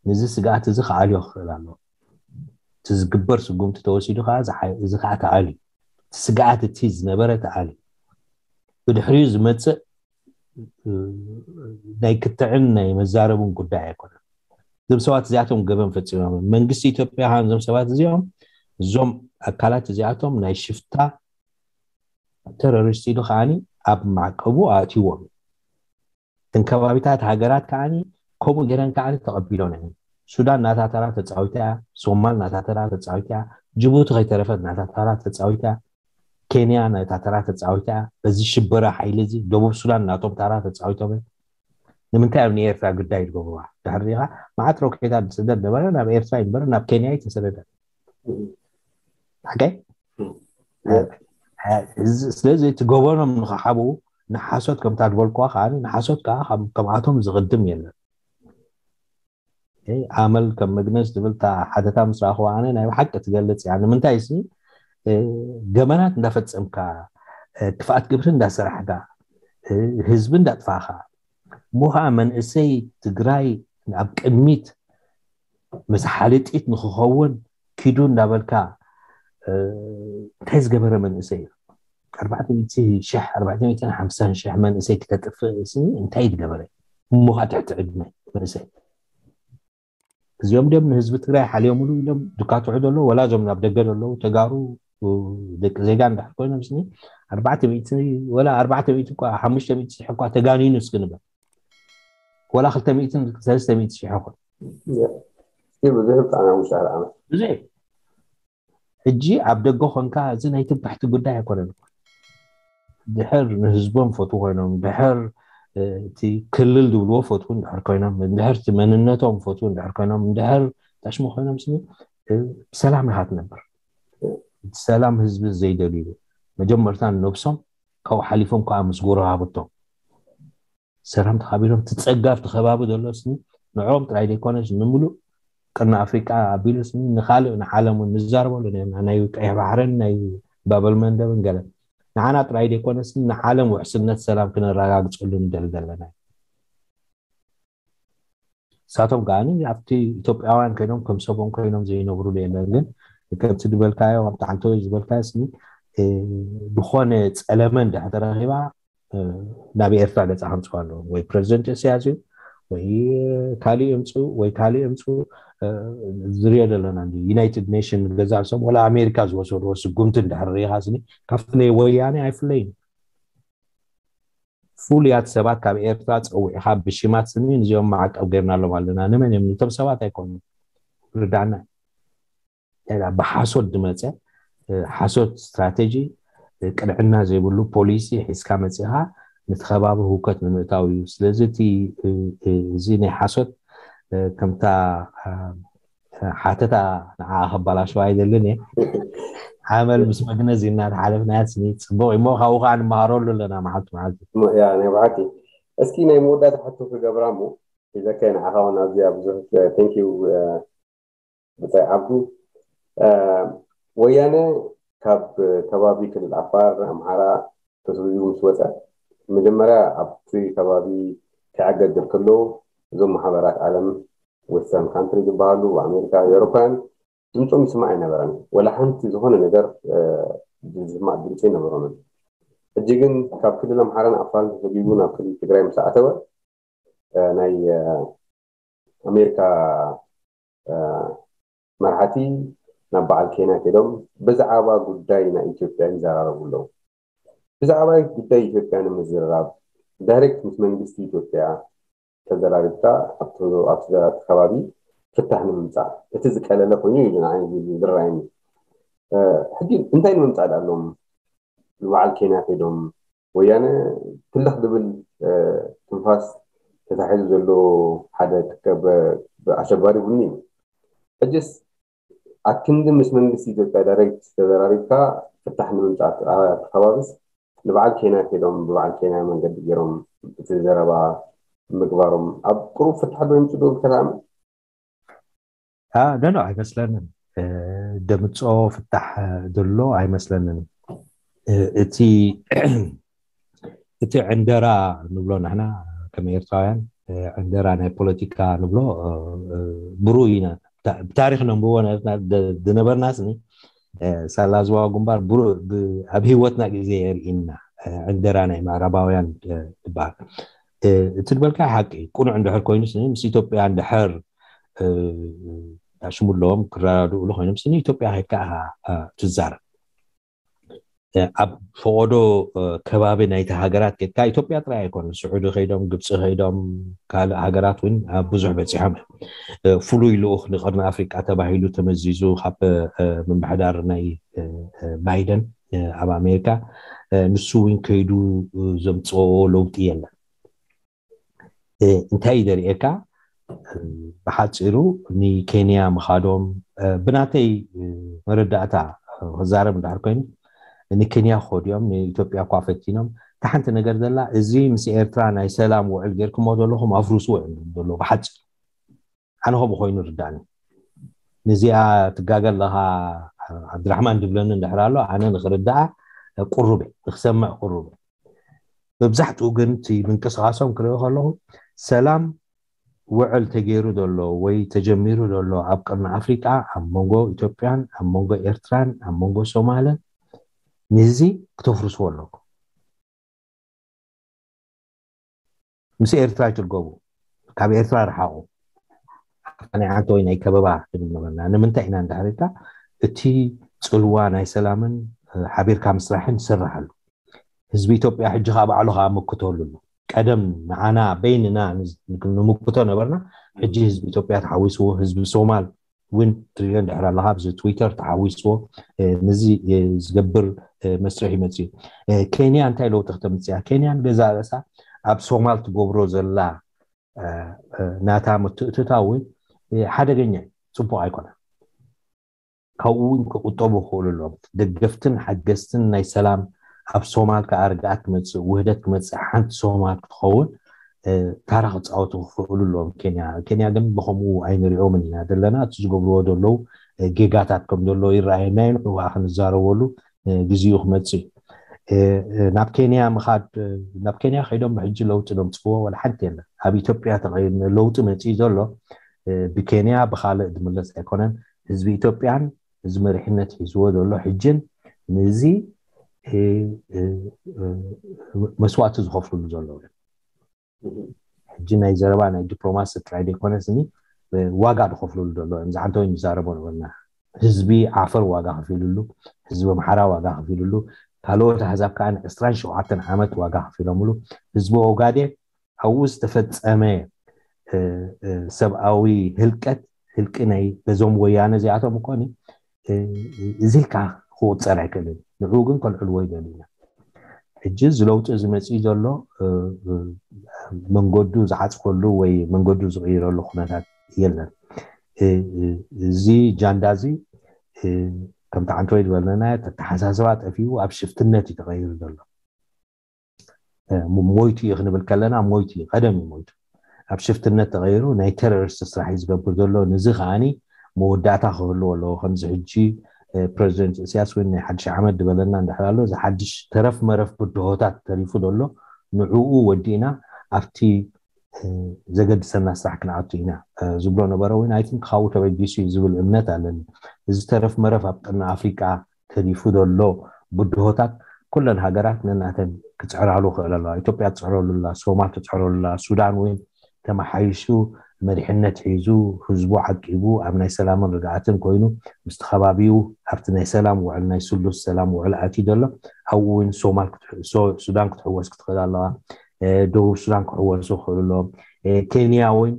ንዚ ስግኣት እዚ ክኣልዮ ክኽእል ኣለዎ። እቲ ዝግበር ስጉምቲ ተወሲዱ ከዓ እዚ ከዓ ተኣልዩ። እቲ ስግኣት እቲ ዝነበረ ተኣልዩ። ብድሕሪኡ ዝመፅእ ናይ ክትዕን ናይ መዛረቡን ጉዳይ ኣይኮነን። እዞም ሰባት እዚኣቶም ገበን ፈፂሞም። መንግስቲ ኢትዮጵያ ከዓ እዞም ሰባት እዚኦም፣ እዞም ኣካላት እዚኣቶም ናይ ሽፍታ ተሮሪስት ኢሉ ከዓኒ ኣብ ማዕቀቡ ኣእትይዎም። እተን ከባቢታት ሃገራት ከዓኒ ከምኡ ገይረን ከዓኒ ተቐቢሎን እየን። ሱዳን ናታ ተራ ተፃዊታ እያ። ሶማል ናታ ተራ ተፃዊታ እያ። ጅቡቲ ከይተረፈት ናታ ተራ ተፃዊታ እያ። ኬንያ ናታ ተራ ተፃዊታ እያ። በዚ ሽበራ ሓይሊ እዚ ደቡብ ሱዳን ናቶም ተራ ተፃዊቶም እዮም። ንምንታይ ኣብ ንኤርትራ ግዳይ ዝገብርዋ? ድሕሪ ዲኻ መዓት ሮኬታት ዝስደድ ነበረ፣ ናብ ኤርትራ ይንበር ናብ ኬንያ ይተሰደደ። ሓቀይ ስለዚ እቲ ገበኖም ንኽሓብኡ ንሓሶት ከምታ ዝበልኩዋ ከዓ ንሓሶት ከዓ ከምኣቶም ዝቕድም የለን። ኣመል ከም መግነዝ ትብል ሓተታ ምስ ረኣኽዋ ኣነ ናይ ብሓቂ ትገልፅ እያ። ንምንታይ ሲ ገበናት እንዳፈፀምካ ክፍኣት ግብሪ እንዳሰራሕካ ህዝቢ እንዳጥፋእካ እሞ ከዓ መንእሰይ ትግራይ ኣብ ቅድሚት ምስ ሓልጢት ንክኸውን ኪዱ እንዳበልካ እንታይ ዝገበረ መንእሰይ እዩ? ኣርባዕተ ሚእቲ ሺሕ ኣርባዕተ ሚእትን ሓምሳን ሺሕ መንእሰይ ክተጥፍእ ሲ እንታይ ዝገበረ? እሞ ከዓ ትሕቲ ዕድመ መንእሰይ እዚኦም ድም ንህዝቢ ትግራይ ሓልዮምሉ ኢሎም ድካትዑ ዘለዉ ወላ እዞም ናብ ደገ ዘለዉ ተጋሩ ደቂ ዜጋ እንድሕር ኮይኖም ስኒ ኣርባዕተ ሚእቲ ወላ ኣርባዕተ ሚእቲ እኳ ሓሙሽተ ሚእቲ ሺሕ እኳ ተጋኒኑ እስኪ ንበል ወላ ክልተ ሚእትን ሰለስተ ሚእቲ ሺሕ ይኹን ብዙሕ ብጣዕሚ ሓሙሽተ ሓደ ዓመት ብዙሕ ሕጂ ኣብ ደገ ኮንካ እዚ ናይ ትባሕቲ ጉዳይ ኣይኮነን። ድሕር ንህዝቦም ፈትዉ ኮይኖም ድሕር እቲ ክልል ዝብልዎ ፈትዉ እንድሕር ኮይኖም ድሕር እቲ መንነቶም ፈትዉ እንድሕር ኮይኖም ድሕር ታሽሙ ኮይኖም ስኒ ብሰላም ኢኻ ትነብር። እቲ ሰላም ህዝቢ ዘይደልዩ መጀመርታ ንነብሶም ካብኡ ሓሊፎም ከዓ ምስ ጎረባብቶም ሰላም ተኻቢሎም እቲ ፀጋ ኣብቲ ከባቢ ዘሎ ስኒ ንዕኦም ጥራይ ዘይኮነስ ንምሉእ ቅርኒ ኣፍሪቃ ኣቢሉ ስኒ ንካልእ ንዓለም እውን ንዛረበሉ ነርና ናይ ቀይሕ ባሕርን ናይ ባበል መንደብን ገለ ንዓና ጥራይ ዘይኮነስ ንዓለም ውሕስነት ሰላም ክነረጋግፀሉ ንደሊ ዘለና ንሳቶም ከዓ ኣብቲ ኢትዮጵያውያን ኮይኖም ከም ሰቦም ኮይኖም ዘይነብሩሉ የለን ግን ከምቲ ዝበልካዮ ኣብቲ ዓንተወይ ዝበልካዮ ስኒ ዝኾነ ፀለመ እንድሕር ተረኺባ ናብ ኤርትራ ገፃ ከምፅኡ ኣለዎ ወይ ፕረዚደንት እስያስ እዩ ወይ ካሊእ እምፅኡ ወይ ካሊእ እምፅኡ ዝሪኦ ዘለና ዩናይትድ ኔሽን ገዛ ርእሶም ወላ ኣሜሪካ ዝወሰድዎ ስጉምቲ እንድሕር ሪኢኻ ስኒ ካብቲ ናይ ወያነ ኣይፍለይን ፍሉያት ሰባት ካብ ኤርትራ ፀዊዕኻ ብሽማት ስኒ ንዚኦም ማዕቀብ ገይርናሎም ኣለና ንመን እዮም ንቶም ሰባት ኣይኮኑ ርዳና ብሓሶት ዝመፀ ሓሶት ስትራቴጂ ቅንዕና ዘይብሉ ፖሊሲ ሒዝካ መፂኻ ነቲ ከባቢ ህውከት ንምእታው እዩ ስለዚ እቲ እዚ ናይ ሓሶት ከምታ ሓተታ ንዓ ከባላሸዋ ኣይደልን እየ ዓመል ምስ መግነዝ እናተሓለፍናያ ስኒ ፅቡቅ እሞ ካብኡ ከዓ ንመሃረሉ ኣለና መዓልቲ መዓልቲ ናይ ብሓቂ እስኪ ናይ መወዳእታ ሕቶ ክገብራ እሞ ሒዘካ ንዓኻ እውን ኣብዚኣ ብዙሕ thank you ብጻይ ዓብዱ ወያነ ካብ ከባቢ ክልል ዓፋር ኣምሓራ ተስሪዙ ምስ ወፀ መጀመርያ ኣብቲ ከባቢ ክዕገግር ከሎ እዞም ማሕበራት ዓለም western country ዝበሃሉ ኣሜሪካ ኤውሮፓውያን ድምፆም ይስማዕ ኣይነበረን ወላ ሓንቲ ዝኾነ ነገር ዝስማዕ ድምፂ ኣይነበሮምን ሕጂ ግን ካብ ክልል ኣምሓራን ዓፋርን ተሰዲዱ ናብ ክልል ትግራይ ምስ ኣተወ ናይ ኣሜሪካ መራሕቲ ናብ በዓል ኬንያ ከይዶም ብዛዕባ ጉዳይ ናይ ኢትዮጵያ ይዘራረቡ ኣለዉ። ብዛዕባ ጉዳይ ኢትዮጵያ ንምዝርራብ ዳይሬክት ምስ መንግስቲ ኢትዮጵያ ተዘራሪብካ ኣብቲ ዘራቲ ከባቢ ፍታሕ ንምምፃእ እቲ ዝቀለለ ኮይኑ እዩ ዝረኣየኒ። ሕጂ እንታይ ንምምፃእ ኣለዎም? ንበዓል ኬንያ ከይዶም ወያነ ትልኽ ዝብል ትንፋስ ተታሒዙ ዘሎ ሓደ ኣሸባሪ ቡኒ እዩ። ሕጅስ ኣክንዲ ምስ መንግስቲ ኢትዮጵያ ዳይሬክት ተዘራሪብካ ፍታሕ ንምምፃእ ተኸባብስ ንበዓል ኬንያ ከይዶም ብበዓል ኬንያ መንገዲ ገይሮም እቲ ዘረባ ምግባሮም ኣብ ቅሩብ ፍታሕ ዶ ይምፅእ ዶ ኢልካ ትኣምን? ኖ ኣይመስለንን። ደምፆ ፍታሕ ዘሎ ኣይመስለንን። እቲ እቲ ዕንደራ ንብሎ ንሕና ከም ኤርትራውያን ዕንደራ ናይ ፖለቲካ ንብሎ ብሩይ ኢና። ብታሪክ ነንብቦ ዝነበርና ስኒ ሳላ ዝዋ ግንባር ኣብ ህይወትና ግዜ የርእና። ዕንደራ ናይ ምዕራባውያን ትበሃል። እቲ ዝበልካ ሓቂ ቅኑዕ እንድሕር ኮይኑ ስኒ ምስ ኢትዮጵያ እንድሕር ሽሙ ኣለዎም ክረዳድእሉ ኮይኖም ስኒ ኢትዮጵያ ከይድካ ትዛረብ። ኣብ ፈቆዶ ከባቢ ናይቲ ሃገራት ከድካ ኢትዮጵያ ጥራይ ኣይኮነ ስዑዲ ከይዶም ግብፂ ከይዶም ካልእ ሃገራት እውን ብዙሕ በፂሖም። ፍሉይ ልኡክ ንቀርኒ ኣፍሪቃ ተባሂሉ ተመዚዙ ካብ ምምሕዳር ናይ ባይደን ኣብ ኣሜሪካ ንሱ እውን ከይዱ ዘምፅኦ ለውጢ የለን። እንታይ እዩ ዘርእየካ? ብሓፂሩ ንኬንያ ምኻዶም ብናተይ መረዳእታ ክዛረብ እንድሕር ኮይኑ ንኬንያ ክኸዱ እዮም። ንኢትዮጵያ እኳ ፈቲኖም። እታ ሓንቲ ነገር ዘላ እዚ ምስ ኤርትራ ናይ ሰላም ውዕል ጌርኩሞ ዘለኹም ኣፍርስዎ እዮም ዝብሉ ዘለዉ ብሓፂሩ። ኣነ ከምኡ ኮይኑ ርዳእኒ። ንዚኣ ትጋገ ኣለኻ ዓብድራሕማን ድብለኒ እንድሕር ኣሎ ኣነ ንክርዳኣ ቁሩብ ንክሰምዕ ቁሩብ። መብዛሕትኡ ግን እቲ ምንቅስቃሶም ክሪኦ ከለኹ ሰላም ውዕል ተገይሩ ዘሎ ወይ ተጀሚሩ ዘሎ ኣብ ቅርኒ ኣፍሪቃ ኣብ መንጎ ኢትዮጵያን ኣብ መንጎ ኤርትራን ኣብ መንጎ ሶማልን ንዚ ክተፍርስዎ ኣለኩም። ምስ ኤርትራ ይትርገቡ፣ ካብ ኤርትራ ርሓቑ። ናይ ዓንተ ወይ ናይ ከበባ ትብል ነበርና። ንምንታይ ኢና እንድሕር ኢልካ እቲ ፅልዋ ናይ ሰላምን ሓቢርካ ምስራሕን ይስራሓሉ። ህዝቢ ኢትዮጵያ ሕጂ ከዓ ባዕሉ ከዓ ምክተሉ ኣሎ። ቀደም ንዓና በይንና ንምክቶ ነበርና። ሕጂ ህዝቢ ኢትዮጵያ ተሓዊስዎ፣ ህዝቢ ሶማል እውን ትሪኦ እንድሕር ኣለካ ኣብዚ ትዊተር ተሓዊስዎ ንዚ ዝገብር መስርሕ ይመፅእ እዩ። ኬንያ እንታይ ለውጢ ክተምፅእ እያ? ኬንያ ንገዛ ርእሳ ኣብ ሶማል ትገብሮ ዘላ ናታ ምትእትታው እውን ሓደገኛ እዩ፣ ፅቡቅ ኣይኮነን። ካብኡ እውን ክቁጠቡ ይኽእሉ ኣለዎም። ደገፍትን ሓገዝትን ናይ ሰላም ኣብ ሶማል ከዓ ርግኣት ክመፅእ ውህደት ክመፅእ ሓንቲ ሶማል ክትኸውን ታራ ክፃወቱ ክኽእሉ ኣለዎም። ኬንያ ኬንያ ግን ብከምኡ ኣይንሪኦምን ኢና ዘለና። እቲ ዝገብርዎ ዘለዉ ጌጋታት ከም ዘሎ ይረኣየና እዩ። ንዕኡ ከዓ ክንዛረበሉ ግዜኡ ክመፅእ እዩ። ናብ ኬንያ ምኻድ ናብ ኬንያ ከይዶም ብሕጂ ለውጢ ዘምፅዎ ወላ ሓንቲ የለን። ኣብ ኢትዮጵያ ለውጢ መፅኡ ዘሎ ብኬንያ ብካልእ ዝምለስ ኣይኮነን። ህዝቢ ኢትዮጵያን እዚ መሪሕነት ሒዝዎ ዘሎ ሕጅን ንዚ መስዋእቲ ዝኸፍልሉ ዘለዉ እዮም። ሕጂ ናይ ዘረባ ናይ ዲፕሎማሲ ጥራይ ዘይኮነስ ዋጋ ዝኸፍልሉ ዘሎ እዮም። ዝዓንተወይ ንዛረቦ ነበርና። ህዝቢ ዓፈር ዋጋ ከፊልሉ፣ ህዝቢ ኣምሓራ ዋጋ ከፊልሉ፣ ካልኦት ኣህዛብ ከዓ ዕስራን ሸውዓተን ዓመት ዋጋ ከፊሎምሉ። ህዝቢ ኦጋዴን ኣብኡ ዝተፈፀመ ሰብኣዊ ህልቀት ህልቂ ናይ በዞም ወያነ እዚኣቶም እኮ እዚ ኢልካ ክቁፀር ኣይክእልን። ንዕኡ ግን ከልዕልዎ ይደልዩ ኢና። ሕጂ እዚ ለውጢ እዚ መፅኡ ዘሎ መንገዱ ዝዓፅፈሉ ወይ መንገዱ ዝቕይረሉ ኩነታት የለን። እዚ ጃንዳ እዚ ከምቲ ዓንተወይ ዝበለና ተተሓሳስባ ጠፊኡ ኣብ ሽፍትነት እዩ ተቐይሩ ዘሎ። ሞይቱ እዩ ክንብል ከለና ሞይቱ እዩ፣ ቀደም እዩ ሞይቱ። ኣብ ሽፍትነት ተቐይሩ ናይ ቴሮሪስት ስራሕ እዩ ዝገብር ዘሎ። ንዚ ከዓኒ መወዳእታ ክህልዎ ኣለዎ። ከምዚ ሕጂ ፕረዚደንት እስያስ እውን ናይ ሓድሽ ዓመት ዝበለና እንድሕር ኣሎ፣ እዚ ሓድሽ ተረፍ መረፍ ብድሆታት ተሪፉ ዘሎ ንዕኡ ወዲእና ኣብቲ ዘገድሰና ስራሕ ክንኣቱ ኢና ዝብሎ ነበረ። ወይ ናይ ቲንክ ካብኡ ተበጊሱ እዩ ዝብል እምነት ኣለኒ። እዚ ተረፍ መረፍ ኣብ ቅርኒ ኣፍሪቃ ተሪፉ ዘሎ ብድሆታት ኩለን ሃገራት ነናተን ክፅዕራሉ ክእል ኣለዋ። ኢትዮጵያ ትፅዕረሉ ኣላ፣ ሶማል ትፅዕረሉ ኣላ፣ ሱዳን እውን ተመሓይሹ መሪሕነት ሒዙ ህዝቡ ዓቂቡ ኣብ ናይ ሰላምን ርግኣትን ኮይኑ ምስቲ ከባቢኡ ኣብቲ ናይ ሰላም ውዕል ናይ ስሉስ ሰላም ውዕል ኣትዩ ዘሎ ኣብኡ እውን ሶማል ክትሕ- ሶ- ሱዳን ክትሕወስ ክትኽእል ኣለዋ። ደቡብ ሱዳን ክሕወሱ ክኽእሉ ኣለዎም። ኬንያ እውን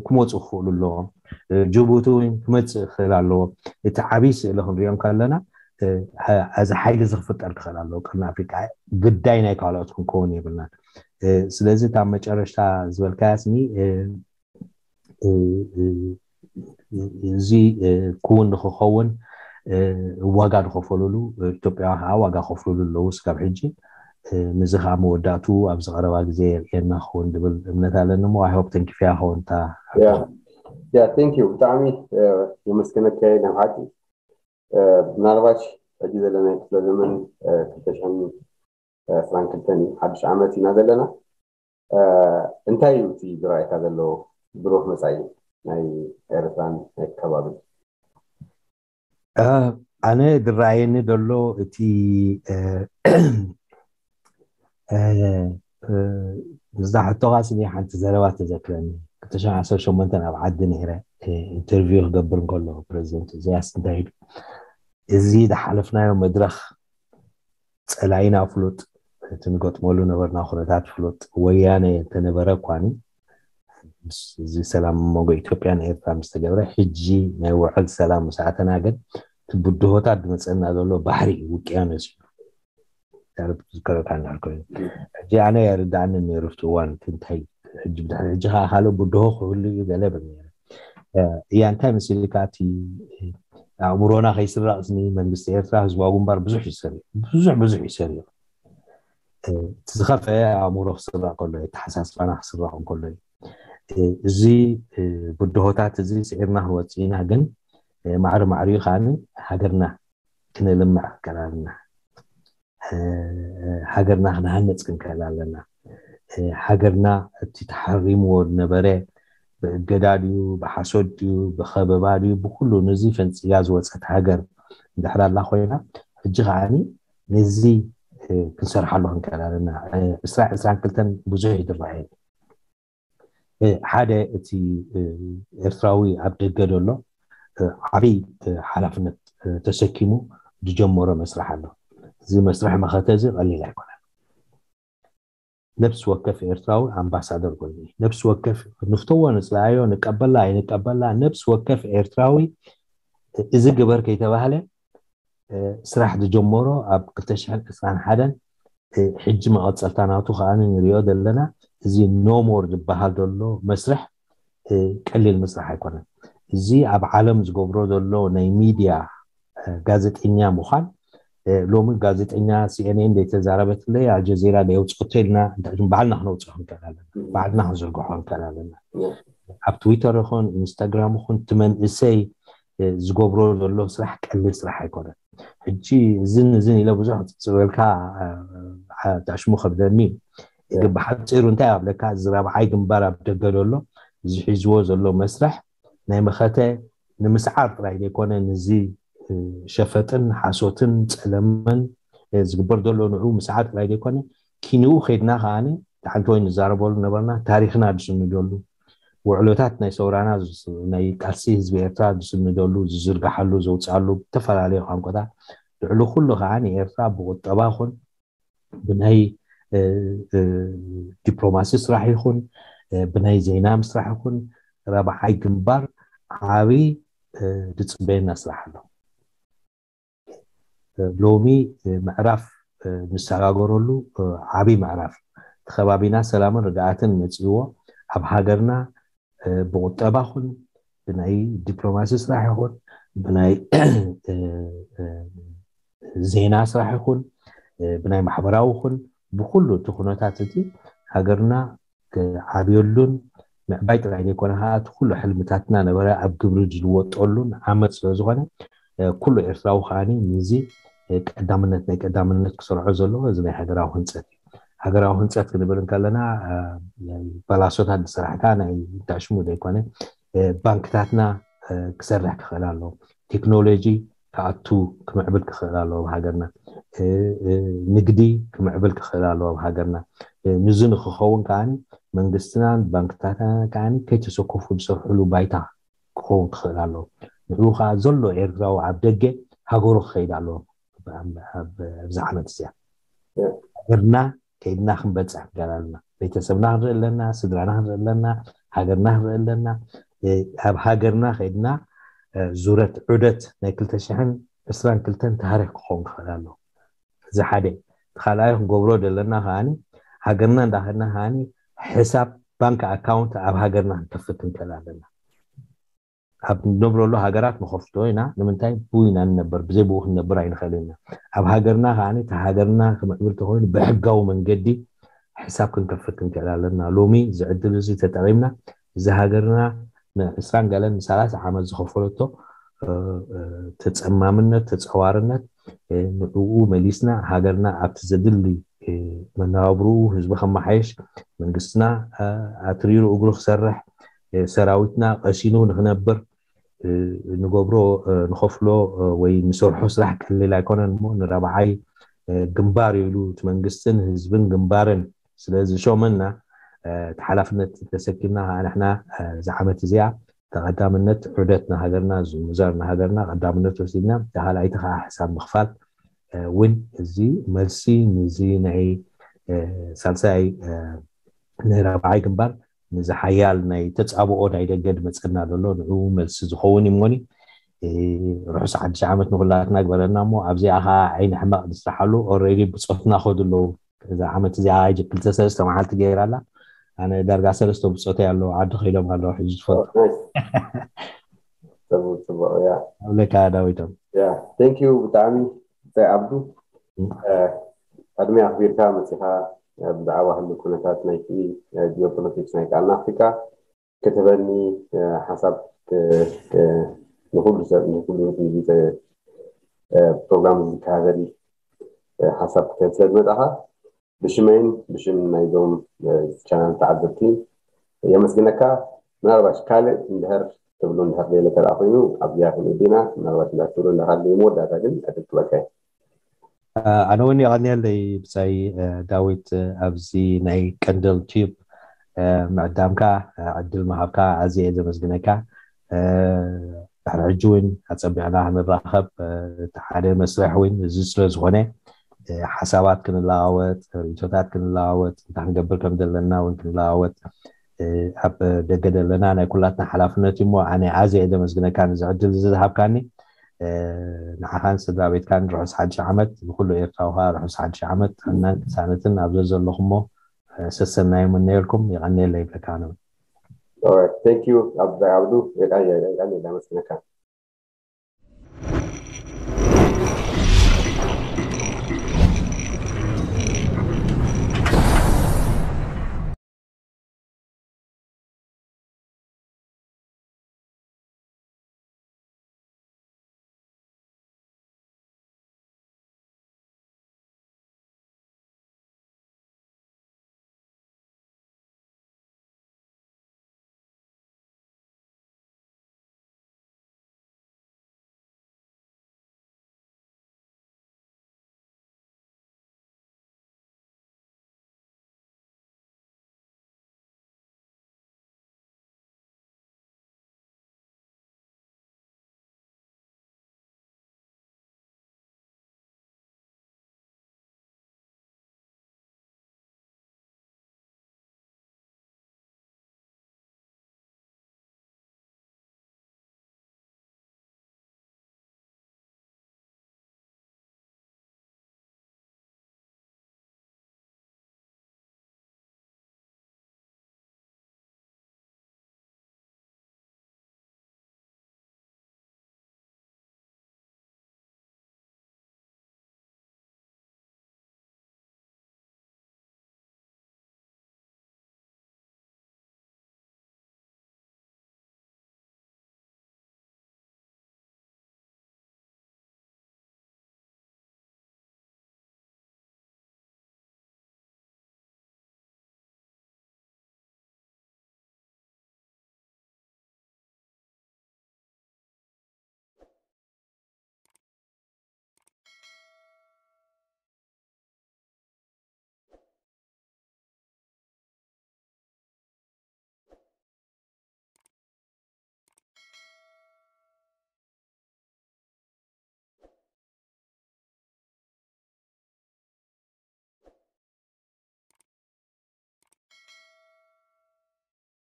ክመፁ ክኽእሉ ኣለዎም። ጅቡቲ እውን ክመፅእ ክኽእል ኣለዎ። እቲ ዓብይ ስእሊ ክንሪኦ ከለና እዚ ሓይሊ እዚ ክፍጠር ክኽእል ኣለዎ። ቅርኒ ኣፍሪቃ ግዳይ ናይ ካልኦት ክንከውን የብልናን። ስለዚ እታ መጨረሽታ ዝበልካያ ስኒ እዚ ክውን ንክኸውን ዋጋ ዝኸፈሉሉ ኢትዮጵያውያን ከዓ ዋጋ ከፍሉሉ ኣለዉ ስጋብ ሕጂ። ንዚ ከዓ መወዳእቱ ኣብዚ ቀረባ ግዜ የርእየና ክኸውን ዝብል እምነት ኣለኒ። ሞ ኣይሆፕ ተንኪፍያ ክኸውን እታ ያ ቴንክ ዩ ብጣዕሚ የመስገነካ። ናይ ሓቂ ምናልባሽ ሕጂ ዘለና ክፍለ ዘመን ክልተ ሽሕን ዕስራን ክልተን እዩ፣ ሓድሽ ዓመት ኢና ዘለና። እንታይ እዩ እቲ ዝረኣየካ ዘሎ ብሩህ መፃኢ ናይ ኤርትራን ናይ ከባቢ? ኣነ ዝረኣየኒ ዘሎ እቲ እዛ ሕቶኻ ስኒ ሓንቲ ዘረባ ተዘክረኒ። ክልተ ሽሕን ዓሰርተ ሸሞንተን ኣብ ዓዲ ነይረ ኢንተርቪው ክገብር እንከሎ ፕረዚደንት ኢሳያስ እንታይ ኢሉ፣ እዚ ዝሓለፍናዮ መድረኽ ፀላኢና ፍሉጥ፣ እቲ ንገጥመሉ ነበርና ኩነታት ፍሉጥ። ወያነ እንተነበረ እኳኒ እዚ ሰላም መንጎ ኢትዮጵያን ኤርትራ ምስ ተገብረ ሕጂ ናይ ውዕል ሰላም ምስ ኣተና ግን እቲ ብድሆታት ዝመፀና ዘሎ ባሕሪ እዩ፣ ውቅያኖስ እዩ። ዝከረካ እንዳልኮ ሕጂ ኣነ የርዳእኒ ነይሩ ኣብቲ እዋን እቲ እንታይ ሕጂ ብድሕሪ ሕጂ ከዓ ካልእ ብድሆ ክህሉ እዩ ገለ ብል ነይረ። እያ እንታይ መሲልካ እቲ ኣእምሮና ከይስረቕ ስኒ መንግስቲ ኤርትራ ህዝባዊ ግንባር ብዙሕ ይሰሪ ብዙሕ ብዙሕ ይሰሪ እቲ ዝኸፈአ ኣእምሮ ክስረቕ ከሎ እዩ፣ ኣተሓሳስባና ክስረቕ እንከሎ እዩ። እዚ ብድሆታት እዚ ስዒርና ክንወፅእ ኢና። ግን ማዕሪ ማዕሪኡ ከዓ ሃገርና ክነልምዕ ክንከላልና ሃገርና ክንሃነፅ ክንክእል ኣለና። ሃገርና እቲ ተሓሪምዎ ዝነበረ ብእገዳ ድዩ ብሓሶት ድዩ ብኸበባ ድዩ ብኩሉ ነዚ ፈንፂጋ ዝወፀት ሃገር እንድሕር ኣላ ኮይና ሕጂ ከዓ ነዚ ክንሰርሓሉ ክንክእል ኣለና። ዕስራ ዕስራን ክልተን ብዙሕ ይድረሐ ሓደ እቲ ኤርትራዊ ኣብ ደገ ዘሎ ዓብይ ሓላፍነት ተሰኪሙ ዝጀመሮ መስርሕ ኣሎ። እዚ መስርሕ መኸተ እዚ ቀሊል ኣይኮነን። ነብሲ ወከፍ ኤርትራዊ ኣምባሳደር ኮይኑ ነብሲ ወከፍ ንፍተዎ ንፅላዮ ንቀበላ ኣይንቀበላ ነብሲ ወከፍ ኤርትራዊ እዚ ግበር ከይተባህለ ስራሕ ዝጀመሮ ኣብ ክልተ ሽሕን ዕስራን ሓደን ሕጂ መቐፀልታ ናቱ ከዓ ንሪኦ ዘለና እዚ ኖሞር ዝበሃል ዘሎ መስርሕ ቀሊል መስራሕ ኣይኮነን። እዚ ኣብ ዓለም ዝገብሮ ዘሎ ናይ ሚድያ ጋዜጠኛ ምዃን ሎሚ ጋዜጠኛ ሲኤንኤን ዘይተዛረበትለይ ኣልጀዚራ ዘይውፅኦቶ ኢልና ባዕልና ክነውፅኦ ንክእል ኣለና። ባዕልና ክንዝርግሖ ንክእል ኣለና። ኣብ ትዊተር ይኹን ኢንስታግራም ይኹን እቲ መንእሰይ ዝገብሮ ዘሎ ስራሕ ቀሊል ስራሕ ኣይኮነን። ሕጂ እዝን እዝን ኢለ ብዙሕ ክፅበልካ ታሽሙ ከብደኒ ግን ብሓፂሩ እንታይ ኣብለካ እዚ ራብዓይ ግንባር ኣብ ደገ ዘሎ እዚ ሒዝዎ ዘሎ መስርሕ ናይ መኸተ ንምስዓር ጥራይ ዘይኮነ ንዚ ሸፈጥን ሓሶትን ፀለመን ዝግበር ዘሎ ንዑ ምስዓር ጥራይ ዘይኮነ ኪንኡ ከድና ከዓኒ ሓንቲ ወይ ንዛረበሉ ነበርና ታሪክና ዝስንደሉ ውዕሎታት ናይ ሰውራና ናይ ቃልሲ ህዝቢ ኤርትራ ዝስንደሉ ዝዝርግሓሉ ዘውፅኣሉ ዝተፈላለዩ ቋንቋታት ልዕሊ ኩሉ ከዓ ንኤርትራ ብቁጠባ ኹን ብናይ ዲፕሎማሲ ስራሕ ይኹን ብናይ ዜና ምስራሕ ይኹን ራብዓይ ግንባር ዓብይ ዝፅበየና ስራሕ ኣሎ። ሎሚ ምዕራፍ ንሰጋገረሉ ዓብይ ምዕራፍ እቲ ከባቢና ሰላምን ርግኣትን መፅእዎ ኣብ ሃገርና ብቁጠባ ኹን ብናይ ዲፕሎማሲ ስራሕ ይኹን ብናይ ዜና ስራሕ ይኹን ብናይ ማሕበራዊ ኹን ብኩሉ እቲ ኩነታት እቲ ሃገርና ክዓብየሉን ምዕባይ ጥራይ ዘይኮነ ከዓ እቲ ኩሉ ሕልምታትና ነበረ ኣብ ግብሪ ዝልወጠሉን ዓመት ስለዝኾነ ኩሉ ኤርትራዊ ከዓ ንዚ ቀዳምነት ናይ ቀዳምነት ክሰርዖ ዘለዎ እዚ ናይ ሃገራዊ ህንፀት እዩ። ሃገራዊ ህንፀት ክንብል እንከለና ባላሶታት ዝሰራሕካ ናይ ታሽሙ ዘይኮነ ባንክታትና ክሰርሕ ክኽእል ኣለዎ። ቴክኖሎጂ ክኣቱ ክምዕብል ክኽእል ኣለዎ ብሃገርና። ንግዲ ክምዕብል ክኽእል ኣለዎ ኣብ ሃገርና። ንዚ ንክኸውን ከዓ መንግስትናን ባንክታትና ከዓ ከይተሰከፉ ዝሰርሕሉ ባይታ ክኸውን ክኽእል ኣለዎ። ንኡ ከዓ ዘሎ ኤርትራዊ ኣብ ደገ ሃገሩ ክኸይድ ኣለዎ። ኣብዚ ዓመት እዚኣ ሃገርና ከይድና ክንበፅሕ ክኽእል ኣለና። ቤተሰብና ክንርኢ ኣለና፣ ስድራና ክንርኢ ኣለና፣ ሃገርና ክንርኢ ኣለና። ኣብ ሃገርና ከይድና ዙረት ዑደት ናይ ክልተ ሽሕን ዕስራን ክልተን ታሪክ ክኸውን ክኽእል ኣለዎ። እዚ ሓደ። እቲ ካልኣይ ክንገብሮ ዘለና ከዓኒ ሃገርና እንዳኸድና ከዓኒ ሕሳብ ባንክ ኣካውንት ኣብ ሃገርና ክንከፍት ክንክእል ኣለና። ኣብ ንነብረሉ ሃገራት ንኸፍቶ ኢና። ንምንታይ? ብኡ ኢና ንነበር፣ ብዘይ ብኡ ክንነብር ኣይንኽእል ኢና። ኣብ ሃገርና ከዓኒ እቲ ሃገርና ክምዕብል ተኾይኑ ብሕጋዊ መንገዲ ሕሳብ ክንከፍት ክንክእል ኣለና። ሎሚ እዚ ዕድል እዚ ተጠቒምና እዚ ሃገርና ንዕስራን ገለን ንሰላሳ ዓመት ዝኸፈለቶ ተፀማምነት፣ ተፀዋርነት ንዕኡ መሊስና ሃገርና ኣብቲ ዘድሊ መነባብርኡ ህዝቢ ከመሓየሽ መንግስትና ኣትሪሩ እግሩ ክሰርሕ ሰራዊትና ቀሲኑ ንክነብር ንገብሮ ንኸፍሎ ወይ ንሰርሖ ስራሕ ቀሊል ኣይኮነን እሞ ንረብዓይ ግንባር ኢሉ እቲ መንግስትን ህዝብን ግንባርን ስለዝሾመና እቲ ሓላፍነት ተሰኪምና ከዓ ንሕና እዚ ዓመት እዚኣ ተቐዳምነት ዑደት ንሃገርና ዝምዛር ንሃገርና ቀዳምነት ወሲድና ካልኣይቲ ከዓ ሕሳብ ምኽፋል እውን እዚ መልሲ ንዚ ናይ ሳልሳይ ናይ ራብዓይ ግንባር ንዚ ሓያል ናይ ተፃብኦ ናይ ደገ ድመፀና ዘሎ ንኡ መልሲ ዝኸውን እዩ እሞኒ ርሑስ ሓድሽ ዓመት ንኩላትና ግበረና እሞ ኣብዚኣ ከዓ ዓይኒ ሕመቕ ንስራሓሉ ኦሬዲ ብፆትና ከዱ ኣለዉ እዛ ዓመት እዚኣ ክልተ ሰለስተ መዓልቲ ገይራ ኣላ ኣነ ዳርጋ ሰለስተ ብፆተይ ኣለዉ ዓዲ ከይዶም ኣለዉ ሕጂ ትፈልጡ ፅቡቅ ፅቡቅ ያ ኣብለካ ዳዊቶም ያ thank you ብጣዕሚ ብታይ ኣብዱ ቅድሚ ኣክቢርካ መፂኻ ብዛዕባ ህሉ ኩነታት ናይቲ ጂኦፖለቲክስ ናይ ቃልና ኣፍሪካ ክትበኒ ሓሳብ ንኩሉ ሰብ ንኩሉ ህዝቢ ፕሮግራም ዝካዘል ሓሳብ ክትህብ ስለ ዝመጣኻ ብሽመይን ብሽም ናይዞም ቻናል ተዓዘብቲ የመስግነካ። ምናልባሽ ካልእ እንድሕር ትብሉ እንድሕር ዘይለ ተደኣ ኮይኑ ኣብዚኣ ክንእዲና ምናልባሽ እንዳ ትብሉ እንዳካለ መወዳእታ ግን ዕድል ክበካ ኣነ እውን የቐንየለይ ብጻይ ዳዊት ኣብዚ ናይ ቀንደል ቲዩብ ምዕዳምካ ዕድል ምሃብካ ኣዝየ እየ ዘመስግነካ ድሕሪ ሕጂ እውን ኣፀቢዕና ክንራኸብ እቲ ሓደ መስርሕ እውን እዚ ስለ ዝኾነ ሓሳባት ክንለዋወጥ ርእቶታት ክንለዋወጥ እንታይ ክንገብር ከም ዘለና እውን ክንለዋወጥ ኣብ ደገ ዘለና ናይ ኩላትና ሓላፍነት እዩ እሞ ኣነ ኣዝየ እየ ዘመስግነካ ንዚ ዕድል እዚ ዝሃብካኒ ንዓኻን ስድራ ቤትካን ርሑስ ሓድሽ ዓመት ንኩሉ ኤርትራዊ ከዓ ርሑስ ሓድሽ ዓመት ጥዕናን ቅሳነትን ኣብ ዘዘለኹሞ ሰሰናዩ ምነየልኩም የቐንየለ ይብለካ ኣነ Alright, thank you. Abdu, Abdu, Abdu,